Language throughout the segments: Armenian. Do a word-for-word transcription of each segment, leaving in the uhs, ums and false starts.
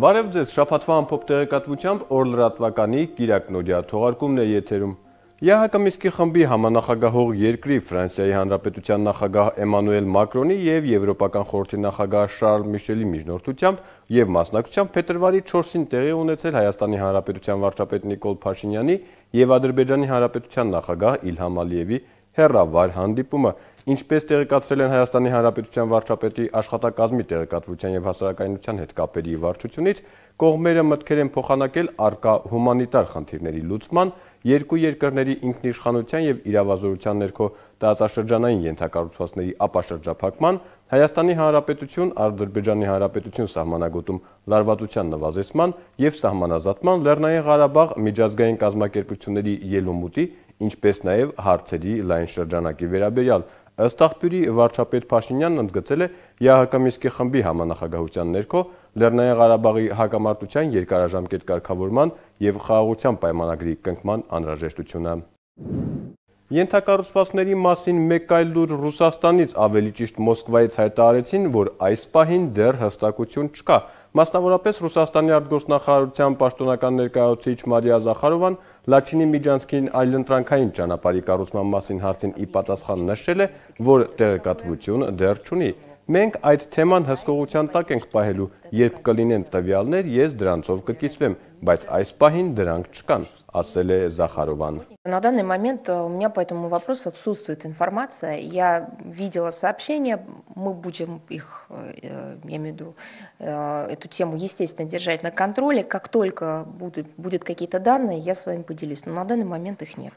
Բարև ձեզ, շաբաթվա ամփոփ տեղեկատվությամբ օր լրատվականի Կիրակ Նորյա թողարկումն է եթերում։ ԵԱՀԿ Մինսկի խմբի համանախագահող երկրի Ֆրանսիայի Հանրապետության նախագահ Էմանուել Մակրոնի և Եվրոպական խորհրդի նախագահ Շարլ Միշելի միջնորդությամբ և մասնակցությամբ փետրվարի չորսին տեղի ունեցել Հայաստանի Հանրապետության վարչապետ Նիկոլ Փաշինյանի և Ադրբեջանի Հանրապետության նախագահ Իլհամ Ալիևի հեռավար հանդիպումը, ինչպես տեղեկացրել են Հայաստանի Հանրապետության վարչապետի աշխատակազմի տեղեկատվության և հասարակայնության հետ կապերի վարչությունից, կողմերը մտքեր են փոխանակել առկա հումանիտար խնդիրների լուծման, երկու երկրների ինքնիշխանության և իրավազորության ներքո տարածաշրջանային ենթակառուցվածքների ապաշրջափակման, Հայաստանի Հանրապետություն Ադրբեջանի Հանրապետություն սահմանագոտում լարվածության նվազեցման և սահմանազատման, Լեռնային Ղարաբաղ միջազգային կազմակերպությունների ելումուտի, ինչպես նաև հարցերի լայն շրջանակի վերաբերյալ։ Ըստ աղբյուրի վարչապետ Փաշինյանն ընդգծել է ԵԱՀԿ Մինսկի խմբի համանախագահության ներքո Լեռնային Ղարաբաղի հակամարտության երկարաժամկետ կարգավորման և խաղաղության պայմանագրի կնքման անհրաժեշտությունը։ Ենթակառուցվածքների մասին մեկ այլ լուր Ռուսաստանից, ավելի ճիշտ Մոսկվայից հայտարարեցին, որ այս պահին դեռ հստակություն չկա։ Մասնավորապես Ռուսաստանի արտգործնախարարության պաշտոնական ներկայացուցիչ Մարիա Զախարովան Լաչինի միջանցքին այլընտրանքային ճանապարհի կառուցման մասին հարցին ի պատասխան նշել է, որ տեղեկատվություն դեռ չունի։ Մենք այդ թեման հսկողության տակ ենք պահելու, երբ կլինեն տվյալներ, ես դրանցով կկիսվեմ, բայց այս պահին դրանք չկան, ասել է Զախարովան։ На данный момент у меня по этому вопросу отсутствует информация. Я видела сообщения, мы будем их, я имею в виду, эту тему, естественно, держать на контроле. Как только будут, будут какие-то данные, я с вами поделюсь, но на данный момент их нет.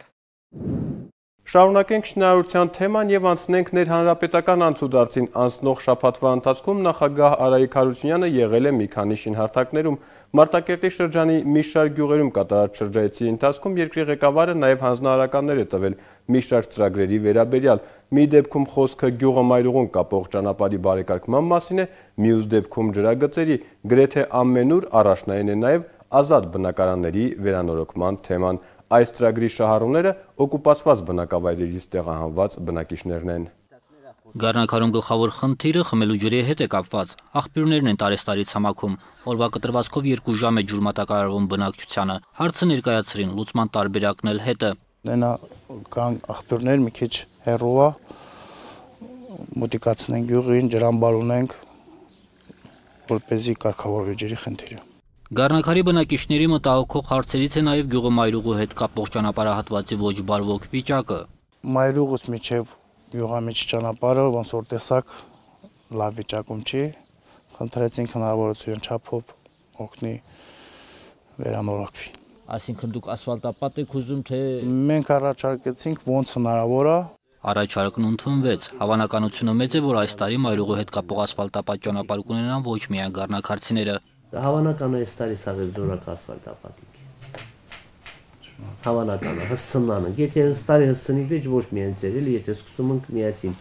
Շարունակենք շինարարության թեման և անցնենք ներհանրապետական անցուդարձին։ Անցնող շաբաթվա ընթացքում նախագահ Արայիկ Հարությունյանը եղել է մի քանի շինհարթակներում։ Մարտակերտի շրջանի մի շարք գյուղերում կատարած շրջայցի ընթացքում երկրի ղեկավարը նաև հանձնարարականներ է տվել մի շարք ծրագրերի վերաբերյալ։ Մի դեպքում խոսքը գյուղը մայրուղուն կապող ճանապարհի բարեկարգման մասին է, մյուս դեպքում ջրագծերի, գրեթե ամենուր առաջնային է նաև ազատ բնակարանների վերանորոգման թեման։ Այս ծրագրի շահառուները օկուպացված բնակավայրերից տեղահանված բնակիչներն են։ Գառնակարում գլխավոր խնդիրը խմելու ջրի հետ է կապված։ Աղբյուրներն են տարեստարի ցամաքում։ Օրվա կտրվածքով երկու ժամ է ջուր մատակարարվում բնակչությանը։ Հարցը ներկայացրին, լուծման տարբերակն էլ հետը։ Նենա կան աղբյուրներ մի քիչ հեռու է, մոտիկացնենք գյուղին, ջրամբար ունենք, որպեսզի կարգավորվի ջրի խնդիրը։ Գառնակարի բնակիչների մտահոգող հարցերից է նաև գյուղը մայրուղու հետ կապող ճանապարհահատվածի ոչ բարվոք վիճակը։ Մայրուղուց միջև գյուղամիջ ճանապարհը ոնց որ տեսակ լավ վիճակում չի, խնդրեցինք հնարավորություն չափով օգնի վերանորոգվի։ Այսինքն դուք ասֆալտապատ եք ուզում, թե մենք առաջարկեցինք ոնց հնարավոր է։ Առաջարկն ընդունվեց։ Հավանականությունը մեծ է, որ այս տարի մայրուղու հետ կապող ասֆալտապատ ճանապարհ կունենան ոչ միայն գառնակարցիները։ Հավանական է այս տարի սաղ զորակ ասֆալտապատիկ։ Հավանական է, հսցնանը։ Եթե այս տարի հսցնի վեճ ոչ միայն ծերել, եթե սկսում ենք միասին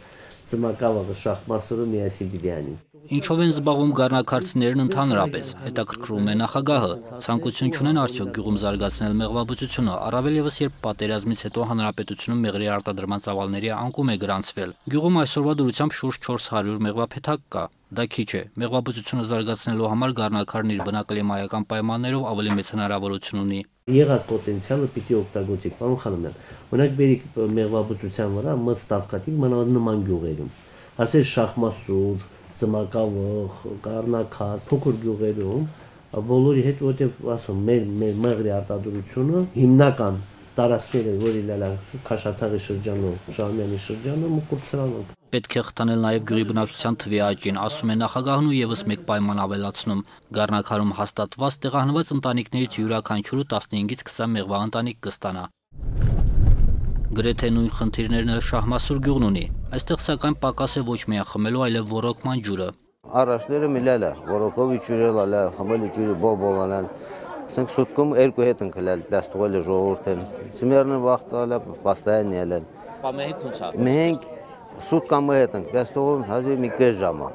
ծմակավաղը շախմասորը միասին պիտի անի։ Ինչով են զբաղվում գառնակարցիներն ընդհանրապես, հետաքրքրում է նախագահը, ցանկություն չունեն արդյոք գյուղում զարգացնել մեղվաբուծությունը, առավել ևս երբ պատերազմից հետո հանրապետությունում մեղրի արտադրման ծավալների անկում է գրանցվել։ Գյուղում այսօրվա դրությամբ շուրջ չորս հարյուր մեղվափեթակ կա։ Դա քիչ է։ Մեղվաբուծությունը զարգացնելու համար գառնակարն իր բնակլիմայական պայմաններով ավելի մեծ հնարավորություն ունի։ Եղած պոտենցիալը պիտի օգտագործենք, պարոն Խանոմյան։ Օրինակ բերիկ մեղվաբուծության վրա մստավկատիվ նման գյուղերում, ասես Շախմասուր, Ծմակավող, Գառնակար, փոքր գյուղերում, բոլորի հետ որտեղ ասում մեր մեր մեղրի արտադրությունը հիմնական տարածքները, որ իլալա Քաշաթաղի շրջանում, Շահումյանի շրջանում ու Կուրցրանում։ Պետք է խթանել նաև գյուղի բնակչության թվի աճին, ասում է նախագահն ու եւս մեկ պայման ավելացնում։ Գառնակարում հաստատված տեղահանված ընտանիքներից յուրաքանչյուրը տասնհինգից քսան մեղվա ընտանիք կստանա։ Գրեթե նույն խնդիրներն էլ Շահմասուր գյուղն ունի։ Այստեղ սակայն պակաս է ոչ միայն խմելու, այլև ոռոգման ջուրը։ Առաջները միլալա, ոռոգովի ջուրը լալա, խմելու ջուրը բոբոլանալ։ Ասենք շուտկում երկու հետ ընկլել, դաս թողել ժողովուրդն։ Ծմերն վախտալա, պաստայան ելել։ Պամեհի քունցա։ Մենք սուտ կամ հետ ենք, դաս թողում հազիվ մի կես ժամա։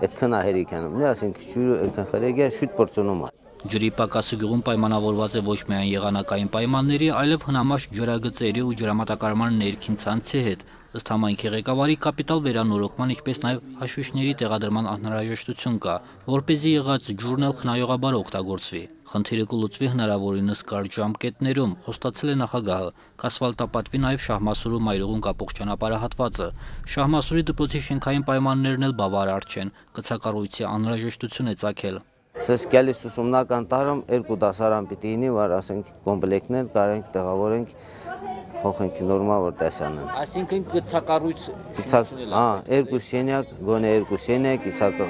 Այդքան հերիկանում։ Նա ասենք ջուրը այդքան խրեգա շուտ բրծնում է։ Ջրի պակասը գյուղում պայմանավորված է ոչ միայն եղանակային պայմանների, այլև հնամաշ ջրագծերի ու ջրամատակարարման ներքին ցանցի հետ։ Ըստ համայնքի ղեկավարի կապիտալ վերանորոգման, ինչպես նաև հաշվիչների տեղադրման անհրաժեշտություն կա, որպեսզի եղած ջուրն էլ խնայողաբար օգտագործվի։ Խնդիրը կլուծվի հնարավորինս կարճ ժամկետներում, խոստացել է նախագահը, կասֆալտապատվի նաև Շահմասուրու Մայրուղուն կապող ճանապարհահատվածը։ Շահմասուրի դպրոցի շենքային պայմաններն էլ բավարար չեն, կցակառույցի անհրաժեշտություն է ծագել։ Սես գալիս ուսումնական տարում երկու դասարան պիտի լինի, որ ասենք կոմպլեկտներ կարենք տեղավորենք հողենք նորմալ որ տեսանան։ Այսինքն գծակառույց հա, երկու սենյակ, գոնե երկու սենյակ,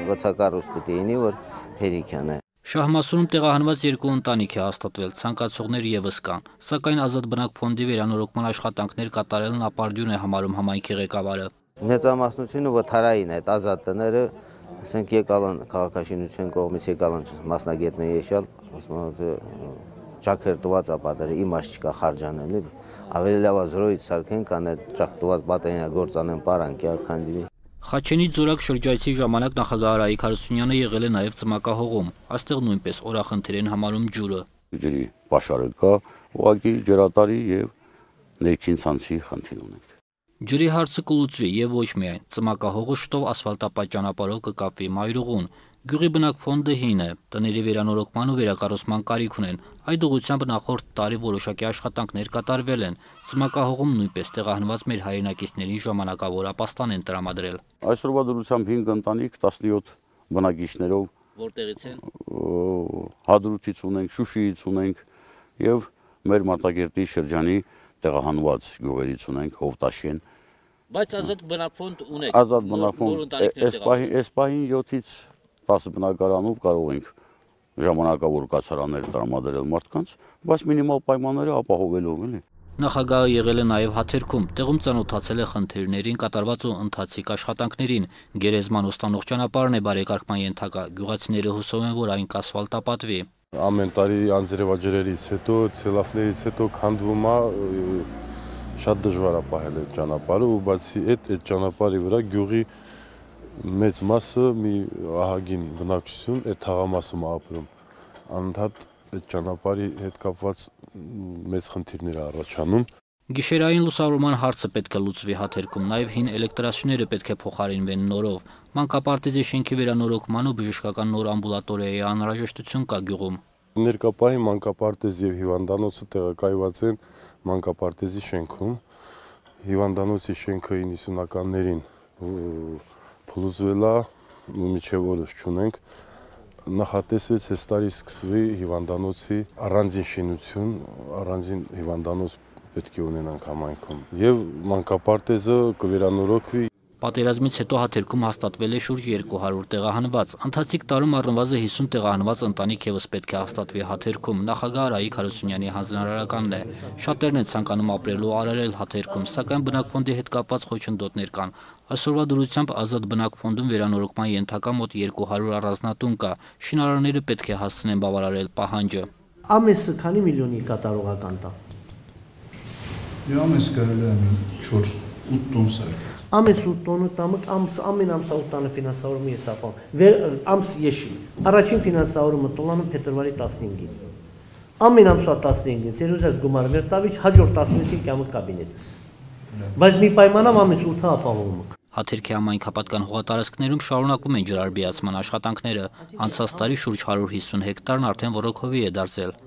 գծակառույց պիտի լինի, որ հերիքան է։ Շահմասուրում տեղահանված երկու ընտանիք է հաստատվել, ցանկացողներ ևս կան, սակայն ազատ բնակ ֆոնդի վերանորոգման աշխատանքներ կատարելն ապարդյուն է համարում համայնքի ղեկավարը։ Մեծամասնությունը վթարային այդ ազատ տները, ասենք եկալան քաղաքաշինության կողմից եկալան մասնագետներ եկալ, ասում եմ ճակերտված ապատերը իմաստ չկա խարժանել, ավելի լավ զրոյից սարքեն կան այդ ճակտված բատենյագործանեն պարանք, քանդի։ Խաչենի Ձորակ շրջայցի ժամանակ նախագահ Արայիկ Հարությունյանը եղել է նաև Ծմակահողում, այստեղ նույնպես օրախնդիր են համարում ջուրը։ Ջրի պաշարը կա, ուղղակի ջրատարի եւ ներքին ցանցի խնդիր ունենք։ Ջրի հարցը կլուծվի եւ ոչ միայն Ծմակահողը շտով ասֆալտապատ ճանապարհով կկապվի Մայրուղուն։ Գյուղի բնակ ֆոնդը հին է, տների վերանորոգման ու վերակառուցման կարիք ունեն։ Այդ ուղղությամբ նախորդ տարի որոշակի աշխատանքներ կատարվել են։ Ծմակահողում նույնպես տեղահանված մեր հայրենակիցներին ժամանակավոր ապաստան են տրամադրել։ Այսօրվա դրությամբ հինգ ընտանիք տասնյոթ բնակիչներով որտեղից են։ Հադրութից ունենք, Շուշիից ունենք եւ մեր Մարտակերտի շրջանի տեղահանված գյուղերից ունենք Հովտաշեն։ Բայց ազատ բնակ ֆոնդ ունեք։ Ազատ բնակ ֆոնդ այս պահին յոթից տասը բնակարանով կարող ենք ժամանակավոր կացարաններ տրամադրել մարդկանց, բայց մինիմալ պայմանները ապահովելով էլի։ Նախագահը եղել է նաև Հաթերքում, տեղում ծանոթացել է խնդիրներին, կատարված ու ընթացիկ աշխատանքներին։ Գերեզման ուսանող ճանապարհն է բարեկարգման ենթակա, գյուղացիները հուսով են, որ այն կասֆալտապատվի։ Ամեն տարի անձրևաջրերից հետո, ցելաֆներից հետո քանդվում է, շատ դժվար է պահել այդ ճանապարհը, ու բացի այդ այդ ճանապարհի վրա գյուղի մեծ մասը մի ահագին բնակչություն այդ թաղամասում ապրում, անընդհատ այդ ճանապարհի հետ կապված մեծ խնդիրներ է առաջանում։ Գիշերային լուսավորման հարցը պետք է լուծվի Հաթերքում, նաև հին էլեկտրասյուները պետք է փոխարինվեն նորով։ Մանկապարտեզի շենքի վերանորոգման ու բժշկական նոր ամբուլատորիայի անհրաժեշտություն կա գյուղում։ Ներկա պահի մանկապարտեզ եւ հիվանդանոցը տեղակայված են մանկապարտեզի շենքում։ Հիվանդանոցի շենքը իննսունականներին փլուզվել է, մինչև օրս չունենք, նախատեսվեց այս տարի սկսվի հիվանդանոցի առանձին շինություն, առանձին հիվանդանոց պետք է ունենանք համայնքում եւ մանկապարտեզը կվերանորոգվի։ Պատերազմից հետո Հաթերքում հաստատվել է շուրջ երկու հարյուր տեղահանված։ Ընթացիկ տարում առնվազն հիսուն տեղահանված ընտանիք ևս պետք է հաստատվի Հաթերքում։ Նախագահ Արայիկ Հարությունյանի հանձնարարականն է։ Շատերն են ցանկանում ապրել ու արարել Հաթերքում, սակայն բնակ ֆոնդի հետ կապված խոչընդոտներ կան։ Այսօրվա դրությամբ ազատ բնակ ֆոնդում վերանորոգման ենթակա մոտ երկու հարյուր առանձնատուն կա։ Շինարարները պետք է հասցնեն բավարարել պահանջը։ Ամեսը քանի միլիոնի կատարողական տա։ Ամես կարելի է չորս ութ տոն սարք։ Ամես ութ տոնը տամը ամս ամեն ամսա ութ տանը ֆինանսավորումը ես ապահովում։ Վեր ամս եշի։ Առաջին ֆինանսավորումը տոլանում փետրվարի տասնհինգին։ Ամեն ամսվա տասնհինգին ծեր ուզած գումար վեր տավիչ հաջորդ տասնհինգին կամը կաբինետս։ Բայց մի պայմանով ամես ութը ապահովում եք։ Հաթերքի համայնքապատկան հողատարածքներում շարունակում են ջրարբիացման աշխատանքները։ Անցած տարի շուրջ հարյուր հիսուն հեկտարն արդեն ոռոգովի է դարձել։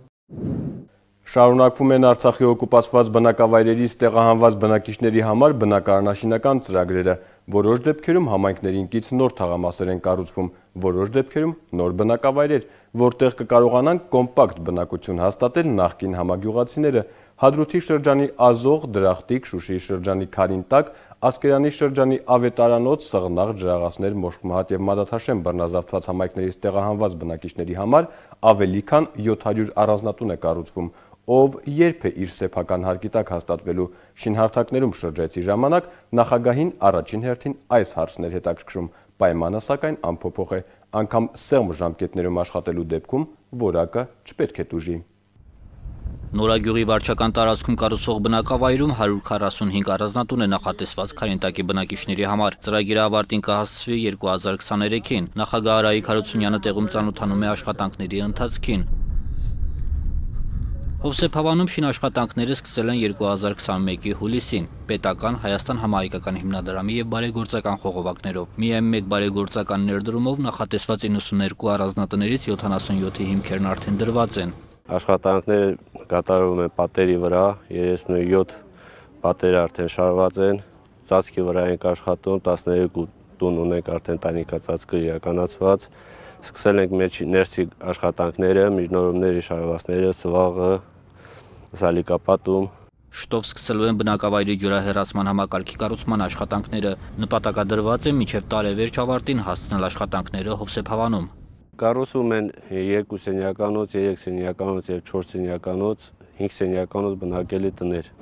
Շարունակվում են Արցախի օկուպացված բնակավայրերից տեղահանված բնակիչների համար բնակարանաշինական ծրագրերը։ Որոշ դեպքերում համայնքներին կից նոր թաղամասեր են կառուցվում, որոշ դեպքերում նոր բնակավայրեր, որտեղ կկարողանան կոմպակտ բնակություն հաստատել նախկին համագյուղացիները։ Հադրութի շրջանի Ազող, Դրախտիկ, Շուշիի շրջանի Քարինտակ, Ասկերանի շրջանի Ավետարանոց, Սղնաղ, Ջրաղացներ, Մոշկմահատ եւ Մադաթաշեն բռնազավթված համայնքներից տեղահանված բնակիչների համար ավելի քան յոթ հարյուր առանձնատուն է կառուցվում, ով երբ է իր սեփական հարկի տակ հաստատվելու։ Շինհարթակներում շրջայցի ժամանակ նախագահին առաջին հերթին այս հարցն էր հետաքրքրում, պայմանը սակայն անփոփոխ է, անգամ սեղմ ժամկետներում աշխատելու դեպքում որակը չպետք է տուժի։ Նորագյուղի վարչական տարածքում կառուցվող բնակավայրում հարյուր քառասունհինգ առանձնատուն է նախատեսված Քարինտակի բնակիչների համար։ Ծրագիրը ավարտին կհասցվի երկու հազար քսաներեքին։ Նախագահ Արայիկ Հարությունյանը տեղում ծանոթանում է աշխատանքների ընթացքին։ Հովսեփ Հավանում շինաշխատանքները սկսել են երկու հազար քսանմեկի հուլիսին, պետական, Հայաստան համահայկական հիմնադրամի և բարեգործական խողովակներով։ Միայն մեկ բարեգործական ներդրումով նախատեսված իննսուններկու առանձնատներից յոթանասունյոթի հիմքերն արդեն դրված են։ Աշխատանքները կատարվում են պատերի վրա, երեսունյոթ պատերը արդեն շարված են, ծածկի վրա ենք աշխատում, տասներկու տուն ունենք արդեն տանիքածածկը իրականացված։ Սկսել ենք ներսի աշխատանքները, միջնորումների շարվածները, սվաղը, սալիկապատում։ Շտով սկսելու են բնակավայրի ջրահեռացման համակարգի կառուցման աշխատանքները, նպատակադրված է մինչև տարեվերջ ավարտին հասցնել աշխատանքները Հովսեփ Հավանում։ Կառուցում են երկու սենյականոց, երեք սենյականոց և չորս սենյականոց, հինգ սենյականոց բնակելի տներ։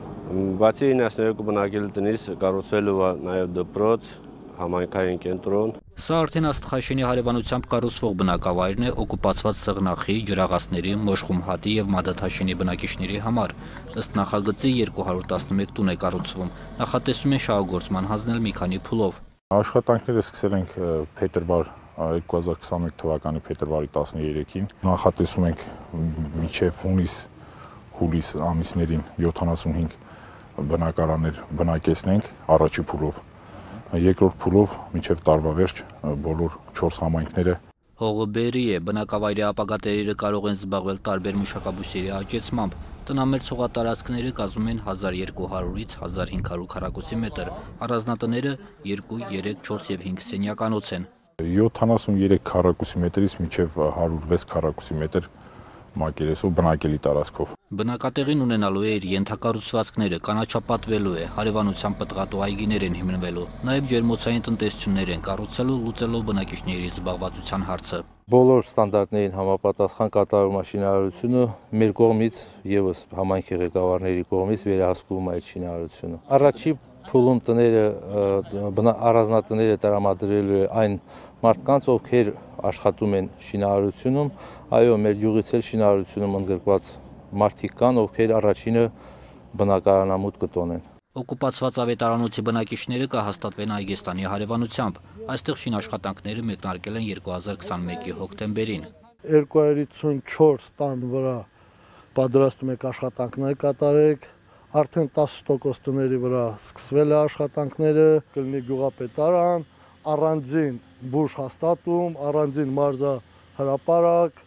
Բացի իննսուններկու բնակելի տնից կառուցվելու է նաև դպրոց, համայնքային կենտրոն։ Սա արդեն Աստղաշենի հարևանությամբ կառուցվող բնակավայրն է օկուպացված Սեղնախի, Ջրաղացների, Մոշխումհատի և Մադաթաշենի բնակիչների համար։ Ըստ նախագծի երկու հարյուր տասնմեկ տուն է կառուցվում։ Նախատեսում են շահագործման հանձնել մի քանի փուլով։ Աշխատանքները սկսել ենք փետրվար երկու հազար քսանմեկ թվականի փետրվարի տասներեքին։ Նախատեսում ենք մինչև հունիս հուլիս ամիսներին յոթանասունհինգ բնակարաններ բնակեցնենք առաջի փուլով։ Երկրորդ փուլով մինչև տարվա վերջ բոլոր չորս համայնքները։ Հողը բերի է, բնակավայրի ապագա տերերը կարող են զբաղվել տարբեր մշակաբույսերի աճեցմամբ։ Տնամերձ հողատարածքները կազմում են հազար երկու հարյուրից հազար հինգ հարյուր քառակուսի մետր, առանձնատները երկու, երեք, չորս և հինգ սենյականոց են։ յոթանասունյոթ քառակուսի մետրից մինչև հարյուր վեց քառակուսի մետր մակերեսով բնակելի տարածքով։ Բնակատեղին ունենալու է իր ենթակառուցվածքները, կանաչապատվելու է, հարևանությամբ պտղատու այգիներ են հիմնվելու, նաև ջերմոցային տնտեսություններ են կառուցելու, լուծելով բնակիչների զբաղվածության հարցը։ Բոլոր ստանդարտներին համապատասխան կատարում է շինարարությունը, մեր կողմից եւս համայնքի ղեկավարների կողմից վերահսկվում է այդ շինարարությունը։ Առաջի փուլում տները առանձնատները տրամադրելու է այն մարդկանց, ովքեր աշխատում են շինարարությունում, այո, մեր յուղից էլ շինարարությունում ընդգրկված մարդիկ կան, ովքեր առաջինը բնակարանամուտ կտոնեն։ Օկուպացված ավետարանոցի բնակիչները կհաստատվեն Այգեստանի հարևանությամբ։ Այստեղ շինաշխատանքները մեկնարկել են երկու հազար քսանմեկի հոկտեմբերին։ երկու հարյուր հիսունչորս տան վրա պատրաստում եք աշխատանքներ կատարեք, արդեն տասը տոկոս տների վրա սկսվել է աշխատանքները, կլինի գյուղապետարան, առանձին բուժ հաստատում, առանձին մարզահրապարակ,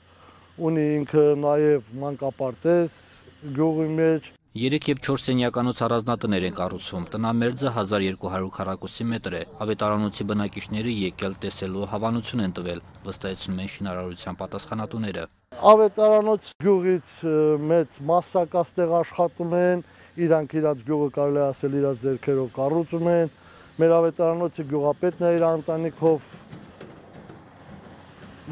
ունի ինքը նաև մանկապարտեզ գյուղի մեջ։ Երեք և չորս սենյականոց առանձնատներ են կառուցվում, տնամերձը հազար երկու հարյուր քառակուսի մետր է, ավետարանոցի բնակիչները եկել տեսելու հավանություն են տվել, վստահեցնում են շինարարության պատասխանատուները։ Ավետարանոց գյուղից մեծ մասսակ աստեղ աշխատում են, իրանք իրաց գյուղը կարելի ասել իրաց ձեռքերով կառուցում են, մեր ավետարանոցի գյուղապետն է իր ընտանիքով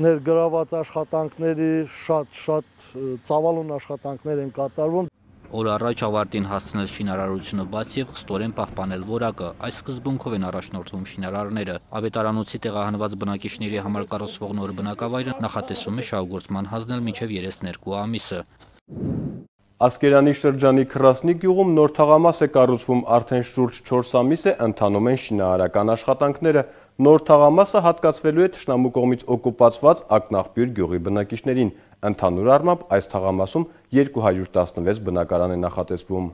ներգրաված աշխատանքների շատ-շատ ծավալուն աշխատանքներ են կատարվում։ Օր առաջ ավարտին հասցնել շինարարությունը բաց և խստորեն պահպանել որակը, այս սկզբունքով են առաջնորդվում շինարարները։ Ավետարանոցի տեղահանված բնակիչների համար կառուցվող նոր բնակավայրը նախատեսում է շահագործման հանձնել մինչև երեսներկու ամիսը։ Ասկերանի շրջանի Քրասնի գյուղում նոր թաղամաս է կառուցվում, արդեն շուրջ չորս ամիս է ընթանում են շինարարական աշխատանքները։ Նոր թաղամասը հատկացվելու է թշնամու կողմից օկուպացված Ակնաղբյուր գյուղի բնակիչներին։ Ընդհանուր առմամբ այս թաղամասում երկու հարյուր տասնվեց բնակարան է նախատեսվում։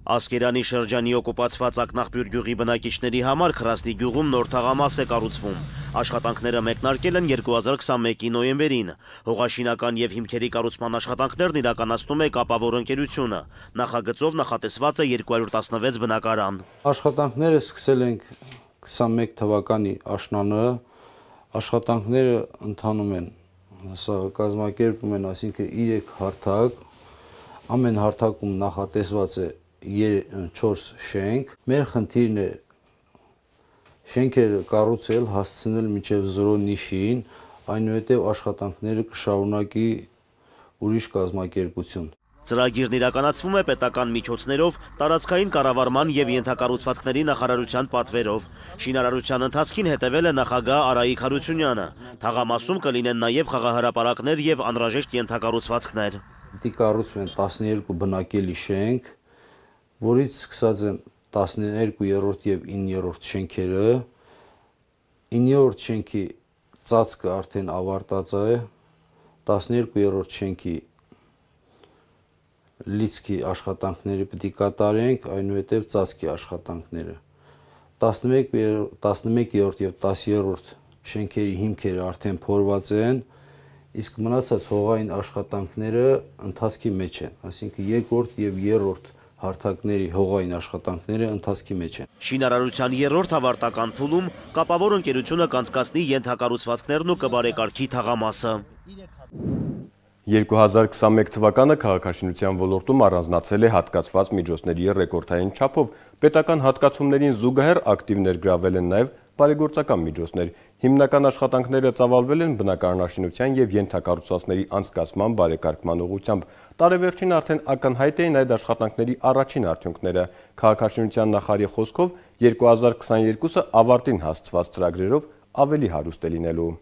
Ասկերանի շրջանի օկուպացված Ակնաղբյուր գյուղի բնակիչների համար Քրասնի գյուղում նոր թաղամաս է կառուցվում։ Աշխատանքները մեկնարկել են երկու հազար քսանմեկի նոյեմբերին։ Հողաշինական և հիմքերի կառուցման աշխատանքներն իրականացնում է Կապավոր ընկերությունը։ Նախագծով նախատեսված է երկու հարյուր տասնվեց բնակարան։ Աշխատանքները սկսել ենք քսանմեկ թվականի աշնանը, աշխատանքները ընթանում են, սա կազմակերպում են, այսինքն երեք հարթակ, ամեն հարթակում նախատեսված է չորս շենք։ Մեր խնդիրն է շենքերը կառուցել, հասցնել մինչև զրո նիշին, այնուհետև աշխատանքները կշարունակի ուրիշ կազմակերպություն։ Ծրագիրն իրականացվում է պետական միջոցներով, տարածքային կառավարման և ենթակառուցվածքների նախարարության պատվերով։ Շինարարության ընթացքին հետևել է նախագահ Արայիկ Հարությունյանը։ Թաղամասում կլինեն նաև խաղահրապարակներ և անհրաժեշտ ենթակառուցվածքներ։ Պիտի կառուցվեն տասներկու բնակելի շենք, որից սկսած են տասներկուերորդ և իններորդ շենքերը, իններորդ շենքի ծածկը արդեն ավարտած է, տասներկուերորդ շենքի լիցքի աշխատանքները պետք է կատարենք, այնուհետև ծածկի աշխատանքները։ տասնմեկերորդ եւ տասներորդ շենքերի հիմքերը արդեն փորված են, իսկ մնացած հողային աշխատանքները ընթացքի մեջ են, այսինքն երկրորդ եւ երրորդ հարթակների հողային աշխատանքները ընթացքի մեջ են։ Շինարարության երրորդ ավարտական փուլում կապավոր ընկերությունը կանցկացնի ենթակառուցվածքներն ու կբարեկարգի թաղամասը։ երկու հազար քսանմեկ թվականը քաղաքաշինության ոլորտում առանձնացել է հատկացված միջոցների ռեկորդային չափով, պետական հատկացումներին զուգահեռ ակտիվ ներգրավել են նաև բարեգործական միջոցներ։ Հիմնական աշխատանքները ծավալվել են բնակարանաշինության եւ ենթակառուցվածքների անցկացման բարեկարգման ուղղությամբ։ Տարեվերջին արդեն ակնհայտ էին այդ աշխատանքների առաջին արդյունքները։ Քաղաքաշինության նախարարի խոսքով երկու հազար քսաներկուսը ավարտին հասցված ծրագրերով ավելի հարուստ է լինելու։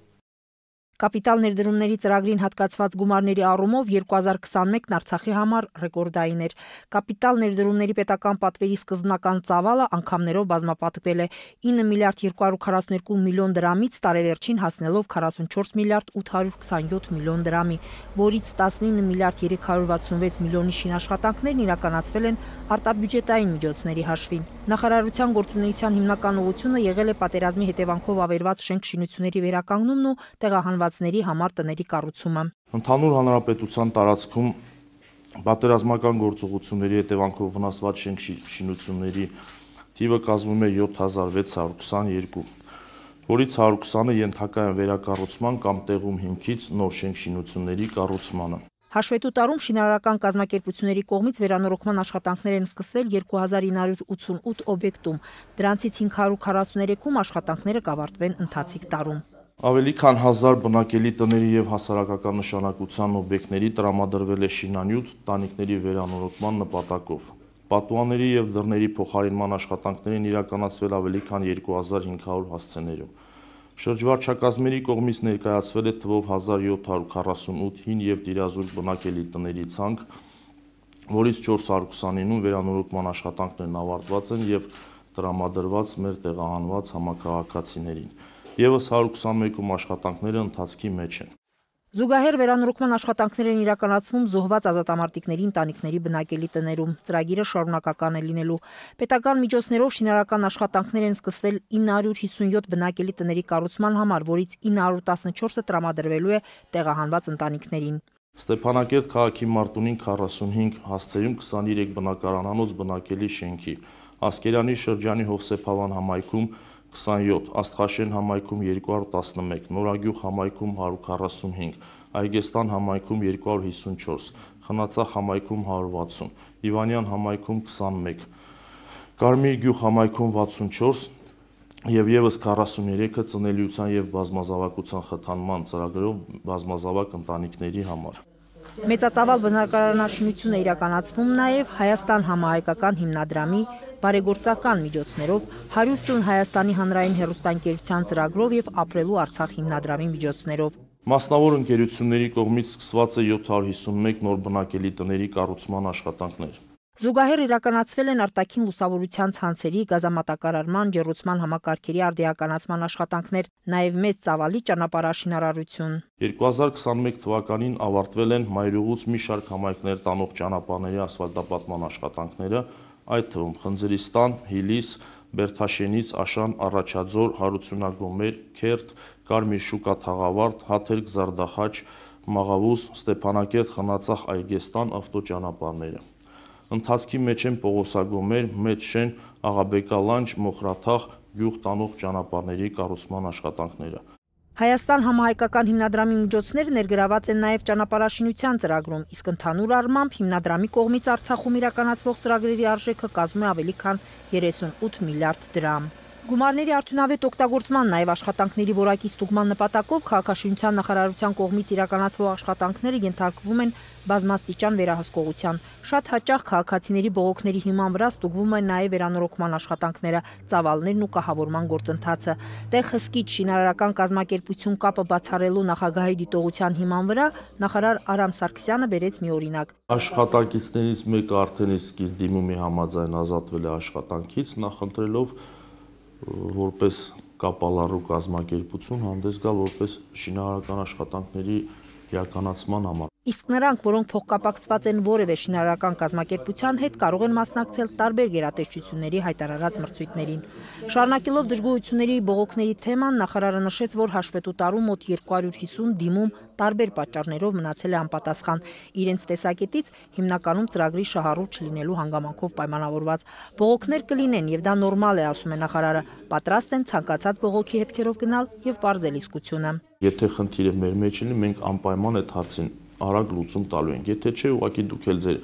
Կապիտալ ներդրումների ծրագրին հատկացված գումարների առումով երկու հազար քսանմեկն Արցախի համար ռեկորդային էր։ Կապիտալ ներդրումների պետական պատվերի սկզբնական ծավալը անգամներով բազմապատկվել է ինը միլիարդ երկու հարյուր քառասունյոթ միլիոն դրամից տարեվերջին հասնելով քառասունչորս միլիարդ ութ հարյուր քսանյոթ միլիոն դրամի, որից տասնինը միլիարդ երեք հարյուր վաթսունվեց միլիոնի շինաշխատանքներն իրականացվել են արտաբյուջետային միջոցների հաշվին։ Նախարարության գործունեության հիմնական ուղղությունը եղել է պատերազմի հետևանքով ավերված շենք շինությունների վերականգնումն ու տեղահանվածների համար տների կառուցումը։ Ընդհանուր հանրապետության տարածքում պատերազմական գործողությունների հետևանքով վնասված շենք շինությունների թիվը կազմում է յոթ հազար վեց հարյուր քսաներկու, որից հարյուր քսանը ենթակա են վերակառուցման կամ տեղում հիմքից նոր շենք շինությունների կառուցմանը։ Հաշվետու տարում շինարարական կազմակերպությունների կողմից վերանորոգման աշխատանքներ են սկսվել երկու հազար ինը հարյուր ութսունութ օբյեկտում, դրանցից հինգ հարյուր քառասուներեքում աշխատանքները կավարտվեն ընթացիկ տարում։ Ավելի քան հազար բնակելի տների եւ հասարակական նշանակության օբյեկտների տրամադրվել է շինանյութ տանիքների վերանորոգման նպատակով։ Պատուհանների եւ դռների փոխարինման աշխատանքներն իրականացվել ավելի քան երկու հազար հինգ հարյուր հասցեներում։ Շրջվարչակազմերի կողմից ներկայացվել է թվով հազար յոթ հարյուր քառասունութ հին եւ տիրազուրկ բնակելի տների ցանկ, որից չորս հարյուր քսանինում վերանորոգման աշխատանքներն ավարտված են եւ տրամադրված մեր տեղահանված համակարգացիներին։ Եվս հարյուր քսանմեկում աշխատանքները ընթացքի մեջ են։ Զուգահեռ վերանորոգման աշխատանքներ են իրականացվում զոհված ազատամարտիկների ընտանիքների բնակելի տներում։ Ծրագիրը շարունակական է լինելու։ Պետական միջոցներով շինարարական աշխատանքներ են սկսվել ինը հարյուր հիսունյոթ բնակելի տների կառուցման համար, որից ինը հարյուր տասնչորսը տրամադրվելու է տեղահանված ընտանիքներին։ Ստեփանակերտ քաղաքի Մարտունին քառասունհինգ, Հասցեում քսաներեք բնակարանանոց բնակելի շենքի, Ասկերանի շրջանի Հովսեփավան համայնքում քսանյոթ, Աստղաշեն համայնքում երկու հարյուր տասնմեկ, Նորագյուղ համայնքում հարյուր քառասունհինգ, Այգեստան համայնքում երկու հարյուր հիսունչորս, Խնածախ համայնքում հարյուր վաթսուն, Իվանյան համայնքում քսանմեկ, Կարմիր գյուղ համայնքում վաթսունչորս եւ եւս քառասուներեքը ծնելիության եւ բազմազավակության խթանման ծրագրով բազմազավակ ընտանիքների համար։ Մեծածավալ բնակարանաշինություն է իրականացվում նաև Հայաստան համահայկական հիմնադրամի բարեգործական միջոցներով, հարյուր տուն Հայաստանի հանրային հեռուստաընկերության ծրագրով եւ Ապրելու Արցախ հիմնադրամի միջոցներով։ Մասնավոր ընկերությունների կողմից սկսված է յոթ հարյուր հիսունմեկ նոր բնակելի տների կառուցման աշխատանքներ։ Զուգահեռ իրականացվել են արտաքին լուսավորության ցանցերի, գազամատակարարման, ջեռուցման համակարգերի արդիականացման աշխատանքներ, նաև մեծ ծավալի ճանապարհաշինարարություն։ երկու հազար քսանմեկ թվականին ավարտվել են Մայրուղուց մի շարք համայնքներ տանող ճանապարհների ասֆալտապատման աշխատանքները, այդ թվում Խնձրիստան, Հիլիս, Բերթաշենից, Աշան, Առաջաձոր, Հարությունագոմեր, Քերտ, Կարմիր շուկա Թաղավարտ, Հաթերք, Զարդախաչ, Մաղավուս, Ստեփանակերտ, Խնածախ, Այգեստան ավտոճանապարհները։ Ընթացքի մեջ են Պողոսագոմեր, Մեծ Շեն, Աղաբեկա լանջ, Մոխրաթաղ, գյուղ տանող ճանապարհների կառուցման աշխատանքները։ Հայաստան համահայկական հիմնադրամի միջոցները ներգրաված են նաև ճանապարհաշինության ծրագրում, իսկ ընդհանուր առմամբ հիմնադրամի կողմից Արցախում իրականացվող ծրագրերի արժեքը կազմում է ավելի քան երեսունութ միլիարդ դրամ։ Գումարների արդյունավետ օգտագործման, նաև աշխատանքների որակի ստուգման նպատակով քաղաքաշինության նախարարության կողմից իրականացվող աշխատանքները ենթարկվում են բազմաստիճան վերահսկողության։ Շատ հաճախ քաղաքացիների բողոքների հիման վրա ստուգվում են նաև վերանորոգման աշխատանքները, ծավալներն ու կահավորման գործընթացը։ Տեղ հսկիչ շինարարական կազմակերպություն կապը բացառելու նախագահի դիտողության հիման վրա նախարար Արամ Սարգսյանը բերեց մի օրինակ։ Աշխատակիցներից մեկը արդեն իսկ իր դիմումի համաձայն ազատվել է աշխատանքից, նախընտրելով որպես կապալառու կազմակերպություն հանդես գալ որպես շինարարական աշխատանքների իրականացման համար։ Իսկ նրանք, որոնք փոխկապակցված են որևէ շինարարական կազմակերպության հետ, կարող են մասնակցել տարբեր գերատեսչությունների հայտարարած մրցույթներին։ Շարունակելով դժգոհությունների բողոքների թեման, նախարարը նշեց, որ հաշվետու տարում մոտ երկու հարյուր հիսուն դիմում տարբեր պատճառներով մնացել է անպատասխան, իրենց տեսակետից հիմնականում ծրագրի շահառու չլինելու հանգամանքով պայմանավորված։ Բողոքներ կլինեն, եւ դա նորմալ է, ասում է նախարարը, պատրաստ են ցանկացած բողոքի հետքերով գնալ եւ պարզել իսկությունը։ Եթե խնդիրը մեր մեջ լինի, մենք անպայման այդ հարցին արագ լուծում տալու ենք։ Եթե չէ, ուղղակի դուք էլ ձեր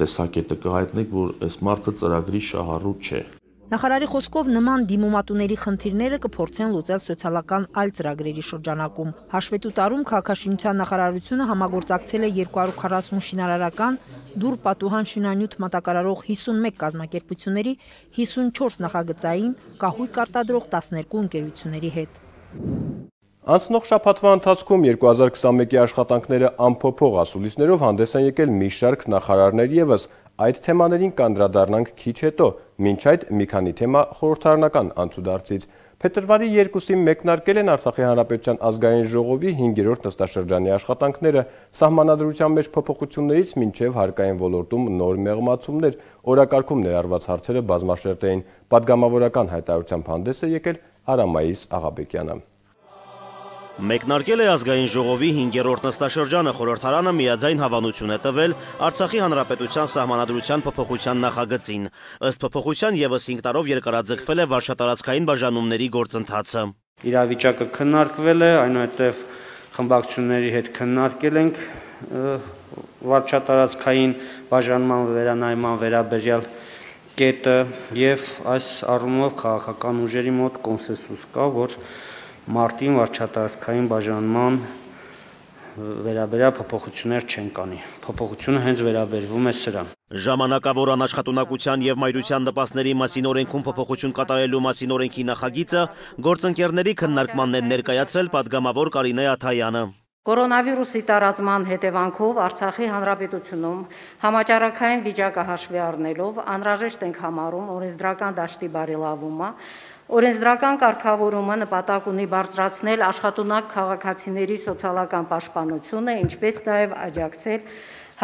տեսակետը կհայտնեք, որ այս մարդը ծրագրի շահառու չէ։ Նախարարի խոսքով նման դիմումատուների խնդիրները կփորձեն լուծել սոցիալական այլ ծրագրերի շրջանակում։ Հաշվետու տարում քաղաքաշինության նախարարությունը համագործակցել է երկու հարյուր քառասուն շինարարական, դուռ պատուհան շինանյութ մատակարարող հիսունմեկ կազմակերպությունների, հիսունչորս նախագծային, կահույք արտադրող տասներկու ընկերությունների հետ։ Անցնող շաբաթվա ընթացքում երկու հազար քսանմեկի աշխատանքները ամփոփող ասուլիսներով հանդես են եկել մի շարք նախարարներ ևս, այդ թեմաներին կանդրադառնանք քիչ հետո, մինչ այդ մի քանի թեմա խորհրդարանական անցուդարձից։ Փետրվարի երկուսին մեկնարկել են Արցախի Հանրապետության ազգային ժողովի հինգերորդ նստաշրջանի աշխատանքները, սահմանադրության մեջ փոփոխություններից մինչև հարկային ոլորտում նոր մեղմացումներ, օրակարգում ներառված հարցերը բազմաշերտ էին։ Պատգամավորական հայտարարությամբ հանդես է եկել Արամայիս Աղաբեկյանը։ Մեկնարկել է ազգային ժողովի հինգերորդ նստաշրջանը, խորհրդարանը միաձայն հավանություն է տվել Արցախի Հանրապետության սահմանադրության փոփոխության նախագծին։ Ըստ փոփոխության ևս հինգ տարով երկարաձգվել է վարչատարածքային բաժանումների գործընթացը։ Իրավիճակը քննարկվել է, այնուհետև խմբակցությունների հետ քննարկել ենք վարչատարածքային բաժանման վերանայման վերաբերյալ կետը եւ այս առումով քաղաքական ուժերի մոտ կոնսենսուս կա, որ մարտին վարչատարածքային բաժանման վերաբերյալ փոփոխություններ չեն կանի։ Փոփոխությունը հենց վերաբերվում է սրան։ Ժամանակավոր անաշխատունակության եւ մայրության նպաստների մասին օրենքում փոփոխություն կատարելու մասին օրենքի նախագիծը գործընկերների քննարկմանն են ներկայացրել պատգամավոր Կարինե Աթայանը։ Կորոնավիրուսի տարածման հետևանքով Արցախի Հանրապետությունում համաճարակային վիճակը հաշվի առնելով անհրաժեշտ ենք համարում օրենսդրական դաշտի բարելավումը, օրենսդրական կարգավորումը նպատակ ունի բարձրացնել աշխատունակ քաղաքացիների սոցիալական պաշտպանությունը, ինչպես նաև աջակցել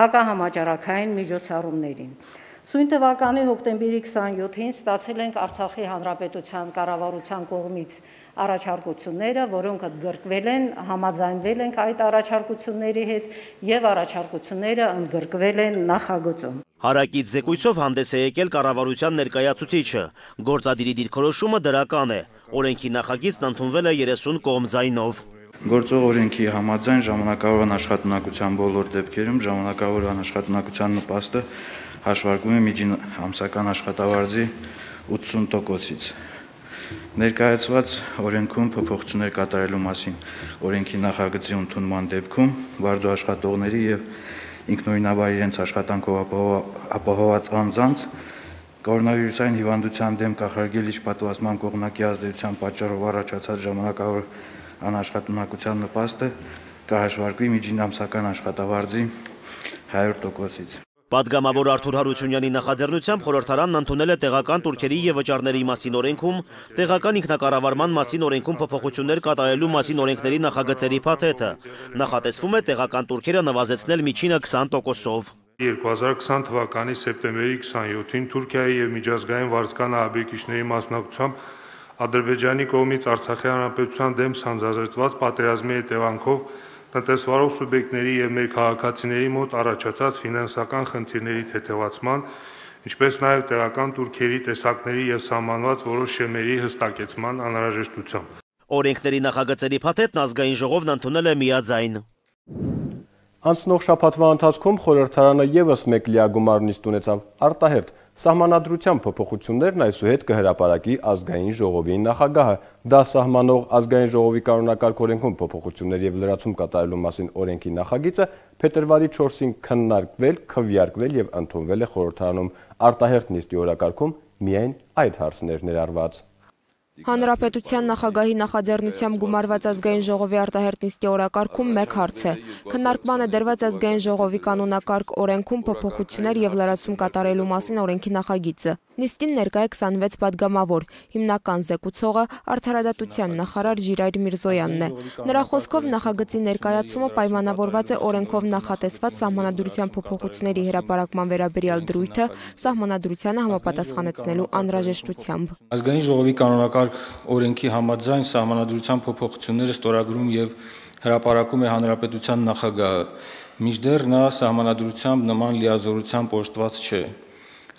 հակահամաճարակային միջոցառումներին։ Սույն թվականի հոկտեմբերի քսանյոթին ստացել ենք Արցախի Հանրապետության կառավարության կողմից առաջարկությունները, որոնք ընդգրկվել են, համաձայնվել ենք այդ առաջարկությունների հետ եւ առաջարկությունները ընդգրկվել են նախագծում։ Հարակից զեկույցով հանդես է եկել կառավարության ներկայացուցիչը։ Գործադիրի դիրքորոշումը դրական է։ Օրենքի նախագիծն ընդունվել է երեսուն կողմ ձայնով։ Գործող օրենքի համաձայն ժամանակավոր անաշխատունակության բոլոր դեպքերում ժամանակավոր անաշխատունակության նպաստը հաշվարկվում է միջին ամսական աշխատավարձի ութսուն տոկոսից։ Ներկայացված օրենքում փոփոխություններ կատարելու մասին օրենքի նախագծի ընդունման դեպքում վարձու աշխատողների եւ ինքնուրույնաբար իրենց աշխատանքով ապահովված անձանց կորոնավիրուսային հիվանդության դեմ կանխարգելիչ պատվաստման կողմնակի ազդեցության պատճառով առաջացած ժամանակավոր անաշխատունակության նպաստը կհաշվարկվի միջին ամսական աշխատավարձի հարյուր տոկոսից։ Պատգամավոր Արթուր Հարությունյանի նախաձեռնությամբ խորհրդարանն ընդունել է տեղական տուրքերի եւ վճարների մասին օրենքում, տեղական ինքնակառավարման մասին օրենքում փոփոխություններ կատարելու մասին օրենքների նախագծերի փաթեթը։ Նախատեսվում է տեղական տուրքերը նվազեցնել միջինը քսան տոկոսով։ երկու հազար քսան թվականի սեպտեմբերի քսանյոթին Թուրքիայի եւ միջազգային վարձկան ահաբեկիչների մասնակցությամբ Ադրբեջանի կողմից Արցախի Հանրապետության դեմ սանձազերծված պատերազմի հետևանքով տնտեսվարող սուբյեկտների եւ մեր քաղաքացիների մոտ առաջացած ֆինանսական խնդիրների թեթևացման, ինչպես նաեւ տեղական տուրքերի տեսակների եւ սահմանված որոշ շեմերի հստակեցման անհրաժեշտությամբ։ Օրենքների նախագծերի փաթեթն ազգային ժողովն ընդունել է միաձայն։ Անցնող շաբաթվա ընթացքում խորհրդարանը ևս մեկ լիագումար նիստ ունեցավ արտահերթ սահմանադրության փոփոխություններն այսուհետ կհրապարակի ազգային ժողովի նախագահը։ Դա սահմանող ազգային ժողովի կանոնակարգ օրենքում փոփոխություններ եւ լրացում կատարելու մասին օրենքի նախագիծը փետրվարի չորսին քննարկվել, քվեարկվել եւ ընդունվել է խորհրդարանում։ Արտահերթ նիստի օրակարգում միայն այդ հարցներ ներառված։ Հանրապետության նախագահի նախաձեռնությամբ գումարված ազգային ժողովի արտահերտ նիստի օրակարգում մեկ հարց է։ Քննարկման է դրված ազգային ժողովի կանոնակարգ օրենքում փոփոխություններ եւ լրացում կատարելու մասին օրենքի նախագիծը։ Նիստին ներկա է քսանվեց падգամավոր, հիմնական զեկուցողը արդարադատության նախարար Ժիրայր Միրզոյանն է։ Նրա խոսքով նախագծի ներկայացումը պայմանավորված է օրենքով նախատեսված սահմանադրության փոփոխությունների հրապարակման վերաբերյալ դրույթը սահմանադրությանը համապատասխանեցնելու անհրաժեշտությամբ։ Ազգային ժողովի կանոնակարգ օրենքի համաձայն սահմանադրության փոփոխությունները ստորագրում եւ հրապարակում է հանրապետության նախագահը, մինչդեռ նա սահմանադրությամբ նման լիազորությամբ օժտված չէ։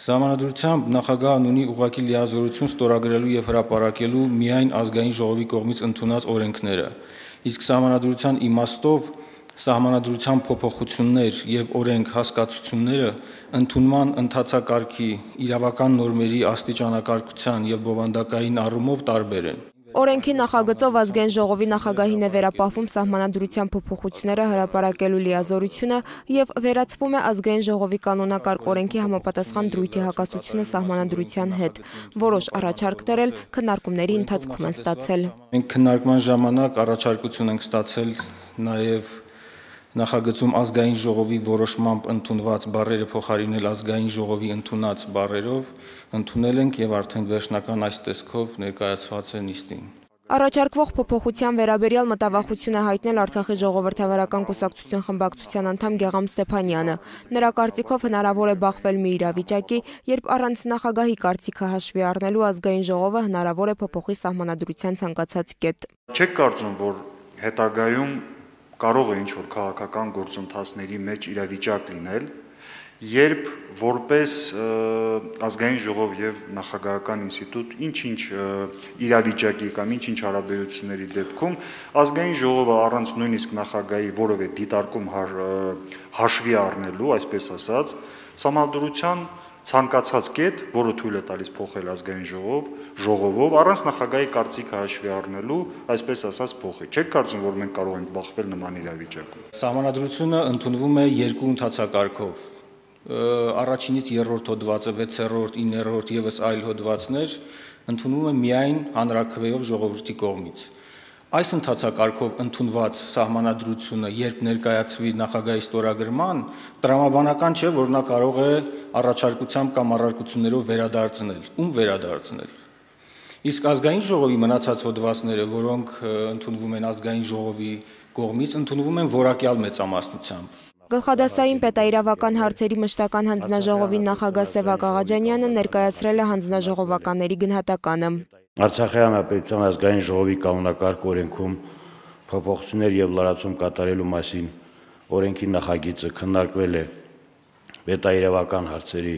Սահմանադրությամբ նախագահն ունի ուղղակի լիազորություն ստորագրելու եւ հրապարակելու միայն ազգային ժողովի կողմից ընդունած օրենքները, իսկ սահմանադրության իմաստով սահմանադրության փոփոխություններ եւ օրենք հասկացությունները ընդունման ընթացակարգի իրավական նորմերի աստիճանակարգության եւ բովանդակային առումով տարբեր են։ Օրենքի նախագծով ազգային ժողովի նախագահին է վերապահվում սահմանադրության փոփոխությունները հրապարակելու լիազորությունը եւ վերացվում է ազգային ժողովի կանոնակարգ օրենքի համապատասխան դրույթի հակասությունը սահմանադրության հետ։ Որոշ առաջարկներ էլ քննարկումների ընթացքում են ստացել։ Մենք քննարկման ժամանակ առաջարկություն ենք ստացել նաեւ նախագծում ազգային ժողովի որոշմամբ ընդունված բառերը փոխարինել ազգային ժողովի ընդունած բառերով, ընդունել ենք եւ արդեն վերջնական այս տեսքով ներկայացված է նիստին։ Առաջարկվող փոփոխության վերաբերյալ մտավախություն է հայտնել Արցախի ժողովրդավարական կուսակցություն խմբակցության անդամ Գեգամ Ստեփանյանը։ Նրա կարծիքով հնարավոր է բախվել մի իրավիճակի, երբ առանց նախագահի կարծիքը հաշվի առնելու ազգային ժողովը հնարավոր է փոփոխի սահմանադրության ցանկացած կետ։ Չեք կարծում, որ հետագայում կարող է ինչ-որ քաղաքական գործընթացների մեջ իրավիճակ լինել, երբ որպես ազգային ժողով եւ նախագահական ինստիտուտ ինչ-ինչ իրավիճակի կամ ինչ-ինչ հարաբերությունների դեպքում ազգային ժողովը առանց նույնիսկ նախագահի որևէ դիտարկում հաշվի առնելու, այսպես ասած, սահմանադրության ցանկացած կետ, որը թույլ է տալիս փոխել ազգային ժողով, ժողովով առանց նախագահի կարծիքը հաշվի առնելու, այսպես ասած, փոխի։ Չեք կարծում, որ մենք կարող ենք բախվել նման իրավիճակում։ Սահմանադրությունը ընդունվում է երկու ընթացակարգով։ Առաջինից երրորդ հոդվածը, վեցերորդ, իններորդ եւս այլ հոդվածներ ընդունվում է միայն հանրաքվեով ժողովրդի կողմից։ Այս ընթացակարգով ընդունված սահմանադրությունը, երբ ներկայացվի նախագահի ստորագրման, տրամաբանական չէ, որ նա կարող է առաջարկությամբ կամ առարկություններով վերադարձնել, ում վերադարձնել։ Իսկ ազգային ժողովի մնացած հոդվածները, որոնք ընդունվում են ազգային ժողովի կողմից, ընդունվում են որակյալ մեծամասնությամբ։ Գլխադասային պետաիրավական հարցերի մշտական հանձնաժողովի նախագահ Սևակ Աղաջանյանը ներկայացրել է հանձնաժողովականների գնահատականը։ Արցախի հանրապետության ազգային ժողովի կանոնակարգ օրենքում փոփոխություններ եւ լրացում կատարելու մասին օրենքի նախագիծը քննարկվել է պետաիրավական հարցերի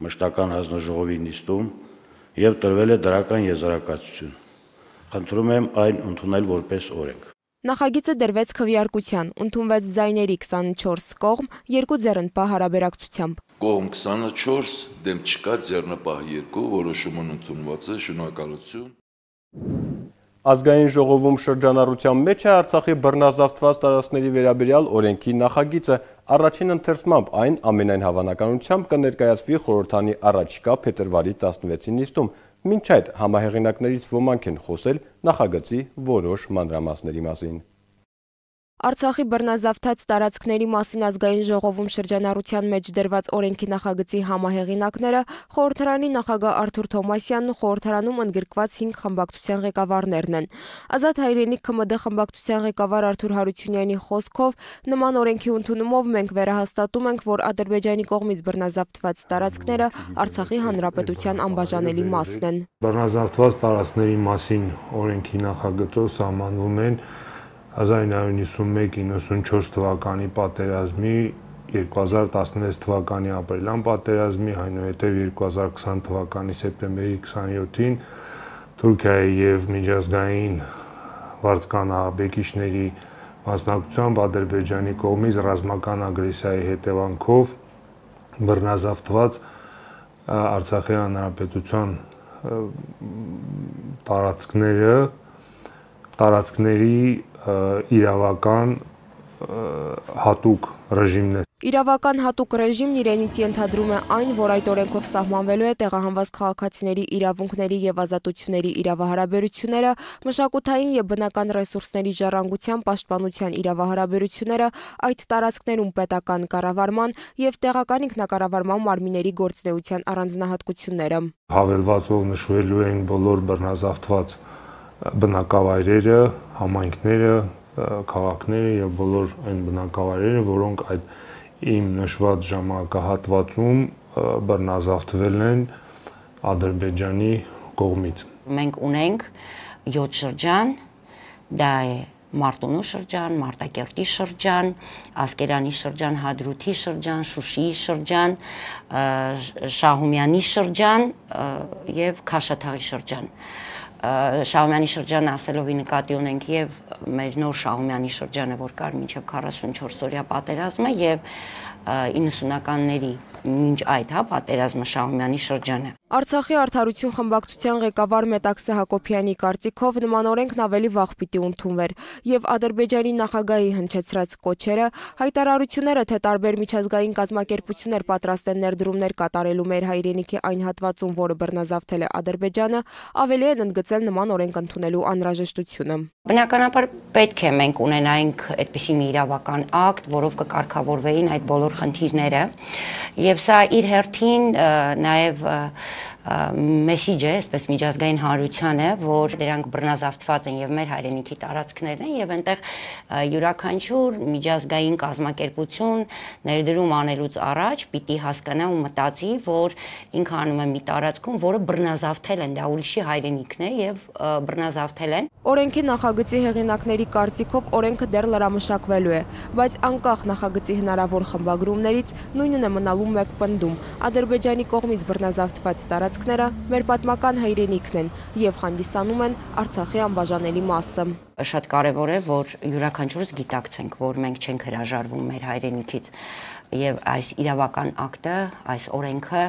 մշտական հանձնաժողովի նիստում եւ տրվել է դրական եզրակացություն։ Խնդրում եմ այն ընդունել որպես օրենք։ Նախագիծը դրվեց քվեարկության, ընդունվեց ձայների քսանչորս կողմ, երկու ձեռնպահ հարաբերակցությամբ։ Կողմ քսանչորս, դեմ չկա, ձեռնպահ երկու, որոշումն ընդունված է, շնորհակալություն։ Ազգային ժողովում շրջանառության մեջ է Արցախի բռնազավթված տարածքների վերաբերյալ օրենքի նախագիծը, առաջին ընթերցմամբ այն ամենայն հավանականությամբ կներկայացվի խորհրդանի առաջիկա փետրվարի տասնվեցի նիստում, մինչ այդ համահեղինակներից ոմանք են խոսել նախագծի որոշ մանրամասների մասին։ Արցախի բռնազավթած տարածքների մասին ազգային ժողովում շրջանառության մեջ դրված օրենքի նախագծի համահեղինակները խորհրդարանի նախագահ Արթուր Թոմասյանն ու խորհրդարանում ընդգրկված հինգ խմբակցության ղեկավարներն են։ Ազատ հայրենիք ՔՄԴ խմբակցության ղեկավար Արթուր Հարությունյանի խոսքով նման օրենքի ընդունումով մենք վերահաստատում ենք, որ Ադրբեջանի կողմից բռնազավթված տարածքները Արցախի հանրապետության անբաժանելի մասն են։ Բռնազավթված տարածքների մասին օրենքի նախագծով սահմանվում են հազար իննսուն նվաթ իննսունչորս թվականի պատերազմի, երկու հազար տասնվեց թվականի ապրիլյան պատերազմի, այնուհետև երկու հազար քսան թվականի սեպտեմբերի քսանյոթին Թուրքիայի եւ միջազգային վարձկան ահաբեկիչների մասնակցությամբ Ադրբեջանի կողմից ռազմական ագրեսիայի հետևանքով բռնազավթված Արցախի հանրապետության տարածքները տարածքների իրավական հատուկ ռեժիմներ։ Իրավական հատուկ ռեժիմն իրենից ենթադրում է այն, որ այդ օրենքով սահմանվելու է տեղահանված քաղաքացիների իրավունքների եւ ազատությունների իրավահարաբերությունները, մշակութային եւ բնական ռեսուրսների ժառանգության պաշտպանության իրավահարաբերությունները, այդ տարածքներում պետական կառավարման եւ տեղական ինքնակառավարման մարմինների գործունեության առանձնահատկությունները։ Հավելվածով նշվելու են բոլոր բռնազավթված բնակավայրերը, համայնքները, քաղաքները եւ բոլոր այն բնակավայրերը, որոնք այդ իմ նշված ժամանակահատվածում բռնազավթվել են Ադրբեջանի կողմից։ Մենք ունենք յոթ շրջան, դա է Մարտունու շրջան, Մարտակերտի շրջան, Ասկերանի շրջան, Հադրութի շրջան, Շուշիի շրջան, Շահումյանի շրջան եւ Քաշաթաղի շրջան։ Շահումյանի շրջանը ասելով նկատի ունենք եւ մեր նոր Շահումյանի շրջանը, որ կար մինչեւ քառասունչորս օրյա պատերազմը եւ իննսունականների մինչ այդ հա պատերազմը Շահումյանի շրջանը։ Արցախի արդարություն խմբակցության ղեկավար Մետաքսե Հակոբյանի կարծիքով նման օրենքն ավելի վաղ պիտի ընդունվեր եւ Ադրբեջանի նախագահի հնչեցրած կոչերը, հայտարարությունները, թե տարբեր միջազգային կազմակերպություններ պատրաստ են ներդրումներ կատարելու մեր հայրենիքի այն հատվածում, որը բռնազավթել է Ադրբեջանը, ավելի են ընդգծել նման օրենք ընդունելու անհրաժեշտությունը։ Բնականաբար պետք է մենք ունենայինք այդպիսի մի իրավական ակտ, որով կկարգավորվեին այդ բոլոր խնդիրները, եւ սա իր հերթին նաեւ մեսիջ է, այսպես միջազգային հանրության է, որ դրանք բռնազավթված են եւ մեր հայրենիքի տարածքներն են եւ այնտեղ յուրաքանչյուր միջազգային կազմակերպություն ներդրում անելուց առաջ պիտի հասկանա ու մտածի, որ ինքը անում է մի տարածքում, որը բռնազավթել են, դա ուրիշի հայրենիքն է եւ բռնազավթել են։ Օրենքի նախագծի հեղինակների կարծիքով օրենքը դեռ լրամշակվելու է, բայց անկախ նախագծի հնարավոր խմբագրումներից նույնն է մնալու մեկ պնդում. Ադրբեջանի կողմից բռնազավթված տարածքները մեր պատմական հայրենիքն են եւ հանդիսանում են Արցախի անբաժանելի մասը։ Շատ կարևոր է, որ յուրաքանչյուրս գիտակցենք, որ մենք չենք հրաժարվում մեր հայրենիքից եւ այս իրավական ակտը, այս օրենքը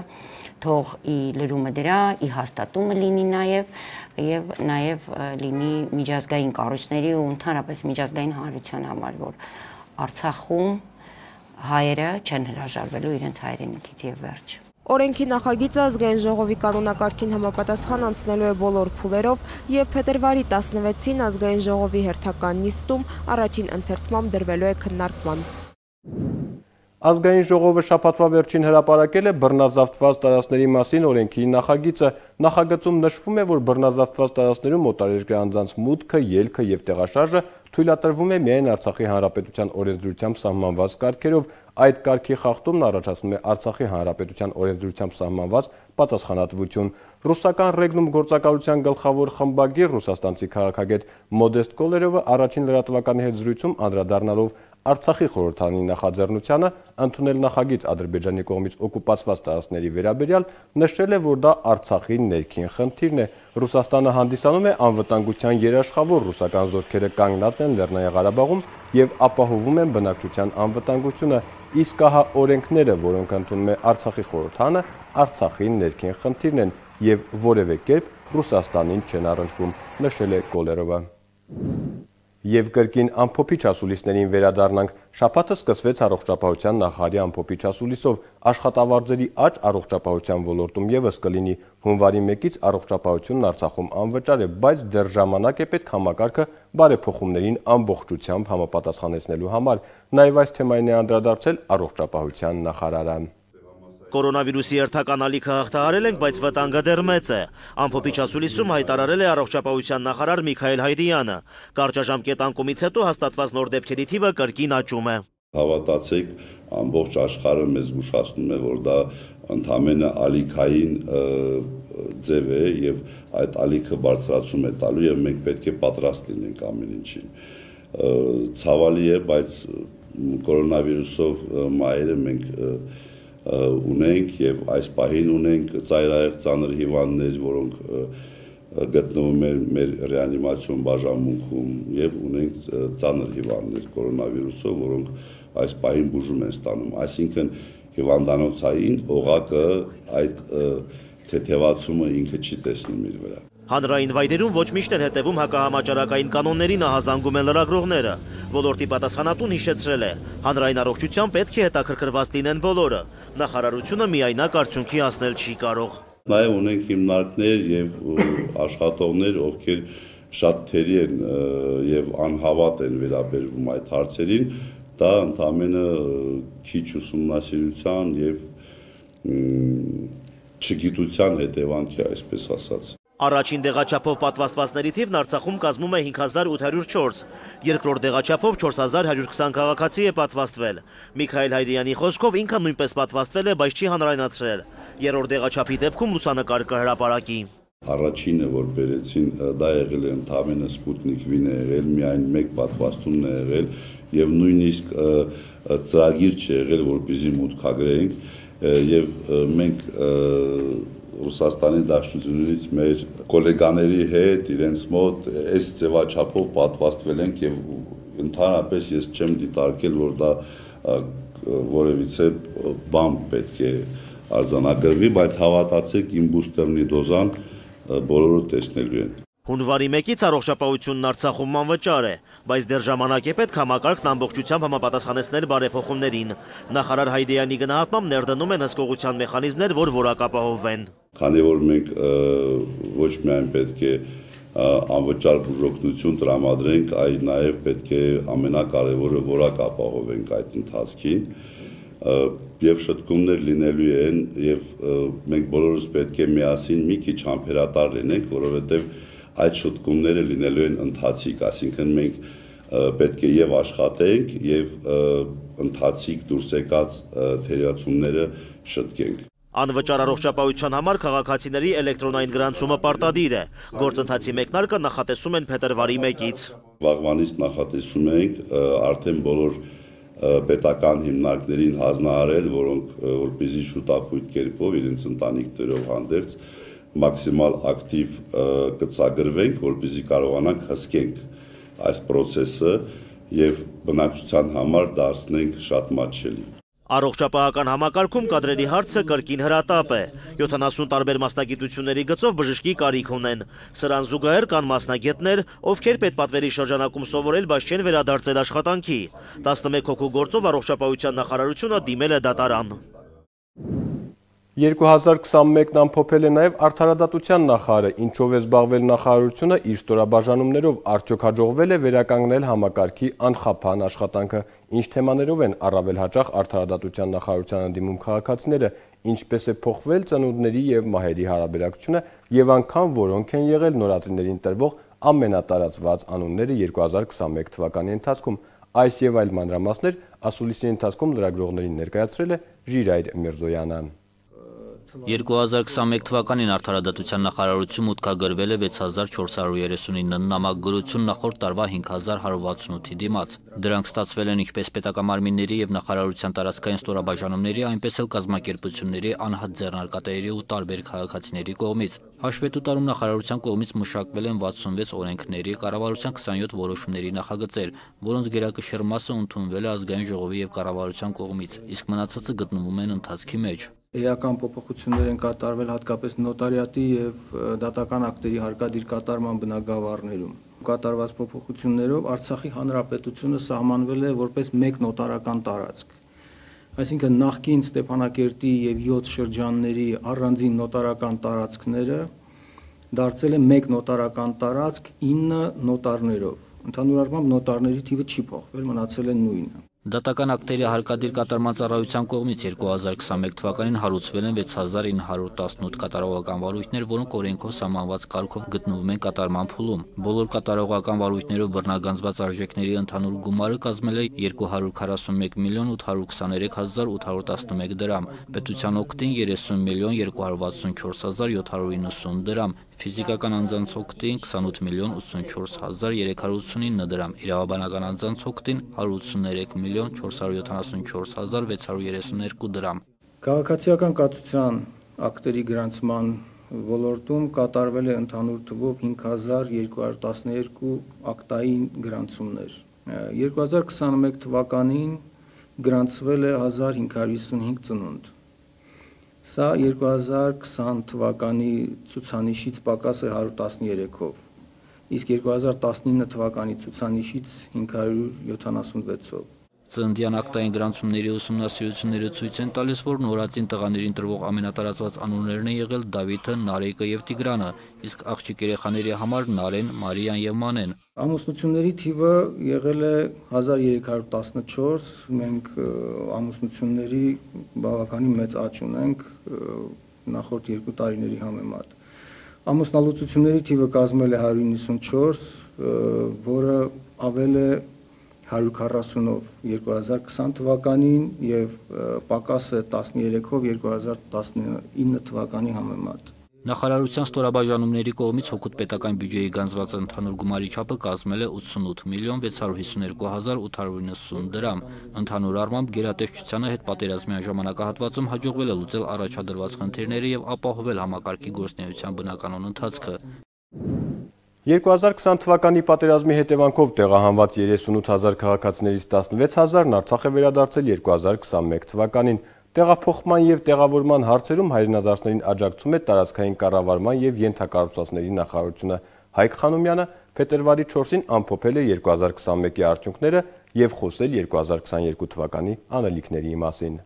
թող ի լրումը դրա, ի հաստատումը լինի նաեւ եւ նաեւ լինի միջազգային կառույցների ու ընդհանրապես միջազգային հանրության համար, որ Արցախում հայերը չեն հրաժարվելու իրենց հայրենիքից եւ վերջ։ Օրենքի նախագիծը ազգային ժողովի կանոնակարգին համապատասխան անցնելու է բոլոր փուլերով եւ փետրվարի տասնվեցին ազգային ժողովի հերթական նիստում առաջին ընթերցմամբ դրվելու է քննարկման։ Ազգային ժողովը շաբաթվա վերջին հրապարակել է բռնազավթված տարածքների մասին օրենքի նախագիծը։ Նախագծում նշվում է, որ բռնազավթված տարածքներում օտարերկրյա անձանց մուտքը, ելքը եւ տեղաշարժը թույլատրվում է միայն Արցախի Հանրապետության օրենսդրությամբ սահմանված կարգերով։ Այդ կարգի խախտումն առաջացնում է Արցախի Հանրապետության օրենսդրությամբ սահմանված պատասխանատվություն։ Ռուսական ռեգնում գործակալության գլխավոր խմբագիր ռուսաստանցի քաղաքագետ Մոդեստ Կոլերովը առաջին լրատվականի հետ զրույցում անդրադառնալով Արցախի խորհրդարանի նախաձեռնությանը ընդունել նախագիծ Ադրբեջանի կողմից օկուպացված տարածքների վերաբերյալ, նշել է, որ դա Արցախի ներքին խնդիրն է։ Ռուսաստանը հանդիսանում է անվտանգության երաշխավոր, ռուսական զորքերը կանգնած են Լեռնային Ղարաբաղում եւ ապահովում են բնակչության անվտանգությունը, իսկ ահա օրենքները, որոնք ընդունում է Արցախի խորհրդարանը, Արցախի ներքին խնդիրն են եւ որևէ կերպ Ռուսաստանին չեն առնչվում, նշել է Կոլերովը։ Եվ կրկին ամփոփիչ ասուլիսներին վերադառնանք։ Շաբաթը սկսվեց առողջապահության նախարարի ամփոփիչ ասուլիսով։ Աշխատավարձերի աճ առողջապահության ոլորտում եւս կլինի։ Հունվարի մեկից առողջապահությունն Արցախում անվճար է, բայց դեռ ժամանակ է պետք համակարգը բարեփոխումներին ամբողջությամբ համապատասխանեցնելու համար։ Նաեւ այս թեմային է անդրադարձել առողջապահության նախարարը։ Կորոնավիրուսի երթական ալիքը հաղթահարել ենք, բայց վտանգը դեռ մեծ է։ Ամփոփիչ ասուլիսում հայտարարել է առողջապահության նախարար Միքայել Հայրյանը։ Կարճաժամկետ անկումից հետո հաստատված նոր դեպքերի թիվը կրկին աճում է։ Հավատացեք, ամբողջ աշխարհը մեզ զգուշացնում է, որ դա ընդամենը ալիքային ձև է եւ այդ ալիքը բարձրացում է տալու եւ մենք պետք է պատրաստ լինենք ամեն ինչին։ Ցավալի է, բայց կորոնավիրուսով մայրը մենք ունենք եւ այս պահին ունենք ծայրահեղ ծանր հիվանդներ, որոնք գտնվում են մեր ռեանիմացիոն բաժանմունքում եւ ունենք ծանր հիվանդներ կորոնավիրուսով, որոնք այս պահին բուժում են ստանում։ Այսինքն հիվանդանոցային օղակը այդ թեթևացումը ինքը չի տեսնում իր վրա։ Հանրային վայրերում ոչ միշտ են հետևում հակահամաճարակային կանոններին ահազանգում են լրագրողները։ ոլորտի պատասխանատուն հիշեցրել է, հանրային առողջության պետք է հետաքրքրված լինեն բոլորը, նախարարությունը միայնակ արդյունքի հասնել չի կարող։ Նաև ունենք հիմնարկներ և աշխատողներ, ովքեր շատ թերի են և անհավատ են վերաբերվում այդ հարցերին, դա ընդամենը քիչ ուսումնասիրության և չգիտության հետևանք է, այսպես ասած։ Առաջին դեղաչափով պատվաստվածների թիվն Արցախում կազմում է հինգ հազար ութ հարյուր չորս, երկրորդ դեղաչափով չորս հազար հարյուր քսան քաղաքացի է պատվաստվել։ Միքայել Հայրյանի խոսքով ինքը նույնպես պատվաստվել է, բայց չի հանրայնացրել։ Երրորդ դեղաչափի դեպքում լուսանկար կհրապարակի։ Առաջինը, որ բերեցին, դա եղել է ընդամենը Սպուտնիկ V-ն է եղել, միայն մեկ պատվաստումն է եղել և նույնիսկ ծրագիր չի եղել, որպեսզի մուտքագրենք, և մենք Ռուսաստանի Դաշնությունից մեր գոլեգաների հետ, իրենց մոտ այս ձևաչափով պատվաստվել ենք և ընդհանրապես ես չեմ դիտարկել, որ դա որևիցե բան պետք է արձանագրվի, բայց հավատացեք իմ բուստերնի դոզան բոլորը տեսնելու են։ Հունվարի մեկից առողջապահությունն Արցախում անվճար է, բայց դեռ ժամանակ է պետք համակարգն ամբողջությամբ համապատասխանեցնել բարեփոխումներին։ Նախարար Հայրյանի գնահատմամբ ներդնում են հսկողության մեխանիզմներ, որ որակապահովվեն։ Քանի որ մենք ոչ միայն պետք է անվճար բուժօգնություն տրամադրենք, այլ նաև պետք է ամենակարևորը որակապահովենք այդ ընթացքին, և շտկումներ լինելու են, և մենք բոլորս պետք է միասին մի քիչ համբերատար լինենք, որովհետև այդ շտկումները լինելու են ընթացիկ, այսինքն մենք պետք է և աշխատենք, և ընթացիկ դուրս եկած թերացումները շտկենք։ Անվճար առողջապահության համար քաղաքացիների էլեկտրոնային գրանցումը պարտադիր է։ Գործընթացի մեկնարկը նախատեսում են փետրվարի մեկից։ Վաղվանից նախատեսում ենք արդեն բոլոր պետական հիմնարկներին հանձնարարել, որոնք որպեսզի շուտապույտ կերպով իրենց ընտանիքներով հանդերձ մաքսիմալ ակտիվ կցագրվենք, որպեսզի կարողանանք հսկենք այս պրոցեսը և բնակչության համար դարձնենք շատ մատչելի։ Առողջապահական համակարգում կադրերի հարցը կրկին հրատապ է։ յոթանասուն տարբեր մասնագիտությունների գծով բժշկի կարիք ունեն։ Սրան զուգահեռ կան մասնագետներ, ովքեր պետպատվերի շրջանակում սովորել, բայց չեն վերադարձել աշխատանքի։ տասնմեկ հոգու գործով առողջապահության նախարարությունը դիմել է դատարան։ երկու հազար քսանմեկն ամփոփել է նաև արդարադատության նախարարը, ինչով է զբաղվել նախարարությունը իր ստորաբաժանումներով, արդյոք հաջողվել է վերականգնել համակարգի անխափան աշխատանքը, ինչ թեմաներով են առավել հաճախ արդարադատության նախարարությանը դիմում քաղաքացիները, ինչպես է փոխվել ծնունդների և մահերի հարաբերակցությունը և անգամ որոնք են եղել նորածիններին տրվող ամենատարածված անունները երկու հազար քսանմեկ թվականի ընթացքում, այս և այլ մանրամասներ ասուլիսի ընթացքում լրագրողներին ներկայացրել է Ժիրայր Միրզոյանը։ երկու հազար քսանմեկ թվականին արդարադատության նախարարություն մուտքագրվել է վեց հազար չորս հարյուր երեսունինը նամակագրություն նախորդ տարվա հինգ հազար հարյուր վաթսունութի դիմաց։ Դրանք ստացվել են ինչպես պետակամարմինների և նախարարության տարածքային ստորաբաժանումների, այնպես էլ կազմակերպությունների, անհատ ձեռնարկատերերի ու տարբեր քաղաքացիների կողմից։ Հաշվետու տարում նախարարության կողմից մշակվել են վաթսունվեց օրենքների, կառավարության քսանյոթ որոշումների նախագծեր, որոնց գերակշիռ մասը ընդունվել է ազգային ժողովի և կառավարության կողմից, իսկ մնացածը գտնվում են ընթացքի մեջ։ Էական փոփոխություններ են կատարվել հատկապես նոտարիատի և դատական ակտերի հարկադիր կատարման բնագավառներում։ Կատարված փոփոխություններով Արցախի Հանրապետությունը սահմանվել է որպես մեկ նոտարական տարածք։ Այսինքն նախկին Ստեփանակերտի և յոթ շրջանների առանձին նոտարական տարածքները դարձել է մեկ նոտարական տարածք ինը նոտարներով։ Ընդհանուր առմամբ նոտարների թիվը չի փոխվել, մնացել է նույնը։ Դատական ակտերի հարկադիր կատարման ծառայության կողմից երկու հազար քսանմեկ թվականին հարուցվել են վեց հազար ինը հարյուր տասնութ կատարողական վարույթներ, որոնք օրենքով սահմանված կարգով գտնվում են կատարման փուլում։ Բոլոր կատարողական վարույթներով բռնագանձված արժեքների ընդհանուր գումարը կազմել է երկու հարյուր քառասունմեկ միլիոն ութ հարյուր քսաներեք հազար ութ հարյուր տասնմեկ դրամ, պետության օգտին երեսուն միլիոն երկու հարյուր վաթսունչորս հազար յոթ հարյուր իննսուն դրամ, ֆիզիկական անձանց օգտին քսանութ միլիոն ութսունչորս հազար երեք հարյուր ութսունինը դրամ, իրավաբանական անձանց օգտին հարյուր ութսուներեք միլիոն չորս հարյուր յոթանասունչորս հազար վեց հարյուր երեսունյոթ դրամ։ Քաղաքացիական կացության ակտերի գրանցման ոլորտում կատարվել է ընդհանուր թվով հինգ հազար երկու հարյուր տասներկու ակտային գրանցումներ։ երկու հազար քսանմեկ թվականին գրանցվել է հազար հինգ հարյուր հիսունհինգ ծնունդ։ Սա երկու հազար քսան թվականի ցուցանիշից պակաս է հարյուր տասներեքով։ իսկ երկու հազար տասնինը թվականի ցուցանիշից հինգ հարյուր յոթանասունվեցով։ Ծննդյան ակտային գրանցումների ուսումնասիրությունները ցույց են տալիս, որ նորածին տղաներին տրվող ամենատարածված անուններն են եղել Դավիթը, Նարեկը եւ Տիգրանը, իսկ աղջիկ երեխաների համար Նարեն, Մարիան եւ Մանեն։ Ամուսնությունների թիվը եղել է հազար երեք հարյուր տասնչորս, մենք ամուսնությունների բավականին մեծ աճ ունենք նախորդ երկու տարիների համեմատ։ Ամուսնալուծությունների թիվը կազմել է հարյուր նվաթ, որը ավել է հարյուր քառասունով երկու հազար քսան թվականին եւ պակաս է տասներեքով երկու հազար տասնինը թվականի համեմատ։ Նախարարության ստորաբաժանումների կողմից հօգուտ պետական բյուջեի գանձված ընդհանուր գումարի չափը կազմել է ութսունութ միլիոն վեց հարյուր հիսուն երկու հազար ութ հարյուր իննսուն դրամ։ Ընդհանուր առմամբ գերատեսչությանը հետպատերազմյան ժամանակահատվածում հաջողվել է լուծել առաջադրված խնդիրները եւ ապահովել համակարգի գործունեության բնականոն ընթացքը։ երկու հազար քսան թվականի պատերազմի հետևանքով տեղահանված երեսունութ հազար քաղաքացիներից տասնվեց հազարն Արցախ է վերադարձել երկու հազար քսանմեկ թվականին։ Տեղափոխման եւ տեղավորման հարցերում հայրենադարձներին աջակցում է տարածքային կառավարման եւ ենթակառուցվածքների նախարարությունը։ Հայկ Խանոմյանը փետրվարի չորսին ամփոփել է երկու հազար քսանմեկի արդյունքները եւ խոսել երկու հազար քսաներկու թվականի անելիքների մասին։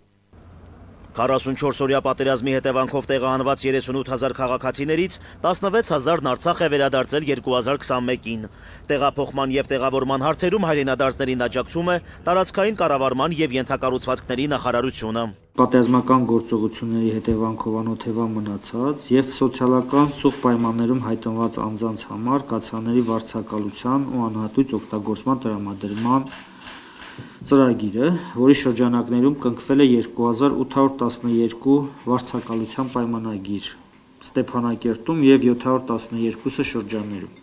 քառասունչորս օրյա պատերազմի հետևանքով տեղահանված երեսունութ հազար քաղաքացիներից տասնվեց հազարն Արցախ է վերադարձել երկու հազար քսանմեկին։ Տեղափոխման եւ տեղավորման հարցերում հայրենադարձներին աջակցում է տարածքային կառավարման եւ ենթակառուցվածքների նախարարությունը։ Պատերազմական գործողությունների հետևանքով անօթևան մնացած եւ սոցիալական սուղ պայմաններում հայտնված անձանց համար կացաների վարձակալության ու անհատույց օգտագործման տրամադրման ծրագիրը, որի շրջանակներում կնքվել է երկու հազար ութ հարյուր տասներկու վարձակալության պայմանագիր Ստեփանակերտում եւ յոթ հարյուր տասներկուսը շրջաններում,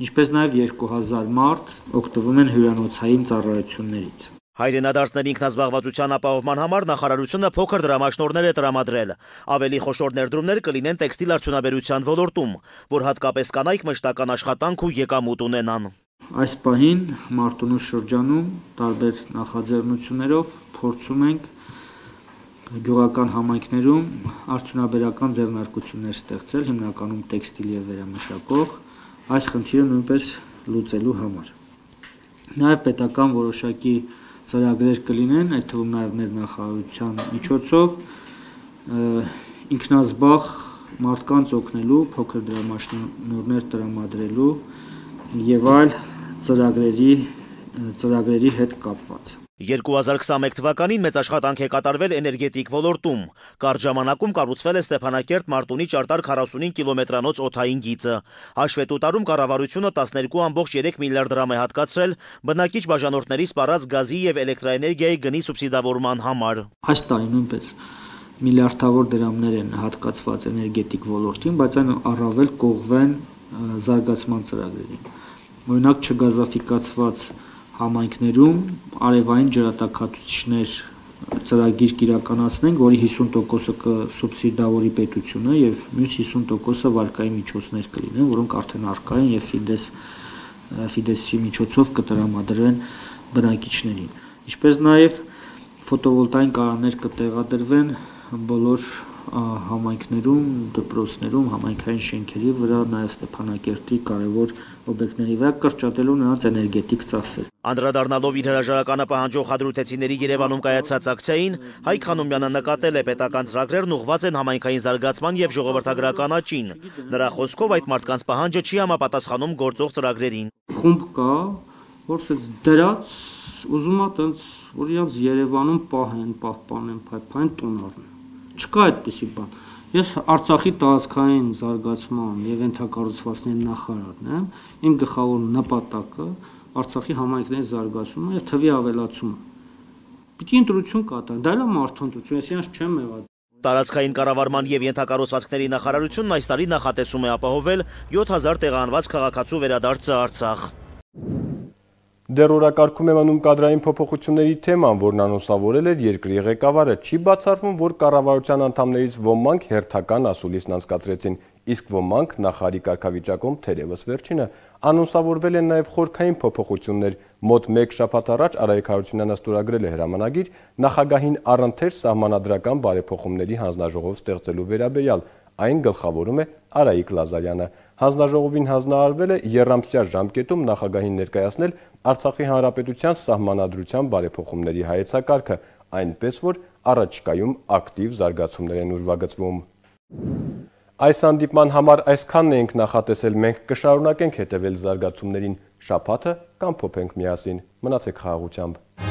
ինչպես նաեւ երկու հազար մարդ օգտվում են հյուրանոցային ծառայություններից։ Հայրենադարձների ինքնազբաղվածության ապահովման համար նախարարությունը փոքր դրամաշնորհներ է տրամադրել։ Ավելի խոշոր ներդրումներ կլինեն տեքստիլ արդյունաբերության ոլորտում, որ հատկապես կանայք մշտական աշխատանք ու եկամուտ ունենան։ Այս պահին Մարտունու շրջանում տարբեր նախաձեռնություններով փորձում ենք գյուղական համայնքներում արդյունաբերական ձեռնարկություններ ստեղծել, հիմնականում տեքստիլ եւ վերամշակող, այս խնդիրը նույնպես լուծելու համար։ Նաեւ պետական որոշակի ծրագրեր կլինեն, այդ թվում նաեւ մեր նախարարության միջոցով ինքնազբաղ մարդկանց օգնելու, փոքր դրամաշնորհներ տրամադրելու եւ այլ ծրագրերի ծրագրերի հետ կապված։ երկու հազար քսանմեկ թվականին մեծ աշխատանք է կատարվել էներգետիկ ոլորտում։ Կարճ ժամանակում կառուցվել է Ստեփանակերտ Մարտունի ճարտար քառասունինը կիլոմետրանոց օդային գիծը։ Հաշվետու տարում կառավարությունը տասներկու կόμμα երեք միլիարդ դրամ է հատկացրել բնակիչ բաժանորդների սպառած գազի եւ էլեկտրաէներգիայի գնի սուբսիդավորման համար։ Այս տարի նույնպես միլիարդավոր դրամներ են հատկացված էներգետիկ ոլորտին, բայց այն առավել կողվեն զարգացման ծրագրերին։ Օրինակ չգազաֆիկացված համայնքներում արևային ջրատաքացուցիչներ ծրագիր կիրականացնենք, որի հիսուն տոկոսը կսուբսիդավորի պետությունը եւ մյուս հիսուն տոկոսը վարկային միջոցներ կլինեն, որոնք արդեն առկա են եւ Ֆիդես Ֆիդեսի միջոցով կտրամադրվեն բնակիչներին։ Ինչպես նաեւ ֆոտովոլտային կայաններ կտեղադրվեն բոլոր համայնքներում, դպրոցներում, համայնքային շենքերի վրա, նաեւ Ստեփանակերտի կարևոր օբյեկտների վրա կրճատելու նրանց էներգետիկ ծախսեր։ Անդրադառնալով իր հրաժարականը պահանջող հադրութեցիների Երևանում կայացած ակցիային, Հայկ Խանոմյանը նկատել է պետական ծրագրերն ուղղված են համայնքային զարգացման եւ ժողովրդագրական աճին։ Նրա խոսքով այդ մարդկանց պահանջը չի համապատասխանում գործող ծրագրերին։ Խումբ կա, որ դրած ուզում է տենց որ իրաց Երևանում պահեն, պահպանեն, փայփային տուն առնեն։ Չկա այդպիսի բան։ Ես Արցախի տարածքային զարգացման եւ ենթակառուցվածքների նախարարն եմ, իմ գլխավոր նպատակը Արցախի համայնքների զարգացումը եւ թվի ավելացումը։ Պիտի ընտրություն կատարեն, դա էլ է մարդու ընտրություն, ես իրենց չեմ եղած։ Տարածքային կառավարման եւ ենթակառուցվածքների նախարարությունն այս տարի նախատեսում է ապահովել յոթ հազար տեղահանված քաղաքացու վերադարձը Արցախ։ Դեռ օրակարգում է մնում կադրային փոփոխությունների թեման, որն անուսավորել էր երկրի ղեկավարը, չի բացառվում, որ կառավարության անդամներից ոմանք հերթական ասուլիսն անցկացրեցին, իսկ ոմանք նախարարի կարգավիճակում թերևս վերջինը։ Անուսավորվել են նաև խորքային փոփոխություններ, մոտ մեկ շաբաթ առաջ Արայիկ Հարությունյանը ստորագրել է հրամանագիր նախագահին առընթեր սահմանադրական բարեփոխումների հանձնաժողով ստեղծելու վերաբերյալ, այն գլխավորում է Արայիկ Լազարյանը։ Հանձնաժողովին հանձնարարվել է եռամսյա ժամկետում նախագահին ներկայացնել Արցախի Հանրապետության սահմանադրության բարեփոխումների հայեցակարգը, այնպես որ առաջիկայում ակտիվ զարգացումներ են ուրվագծվում։ Այս հանդիպման համար այսքանն էինք նախատեսել, մենք կշարունակենք հետևել զարգացումներին, շաբաթը կամփոփենք միասին, մնացեք խաղաղությամբ։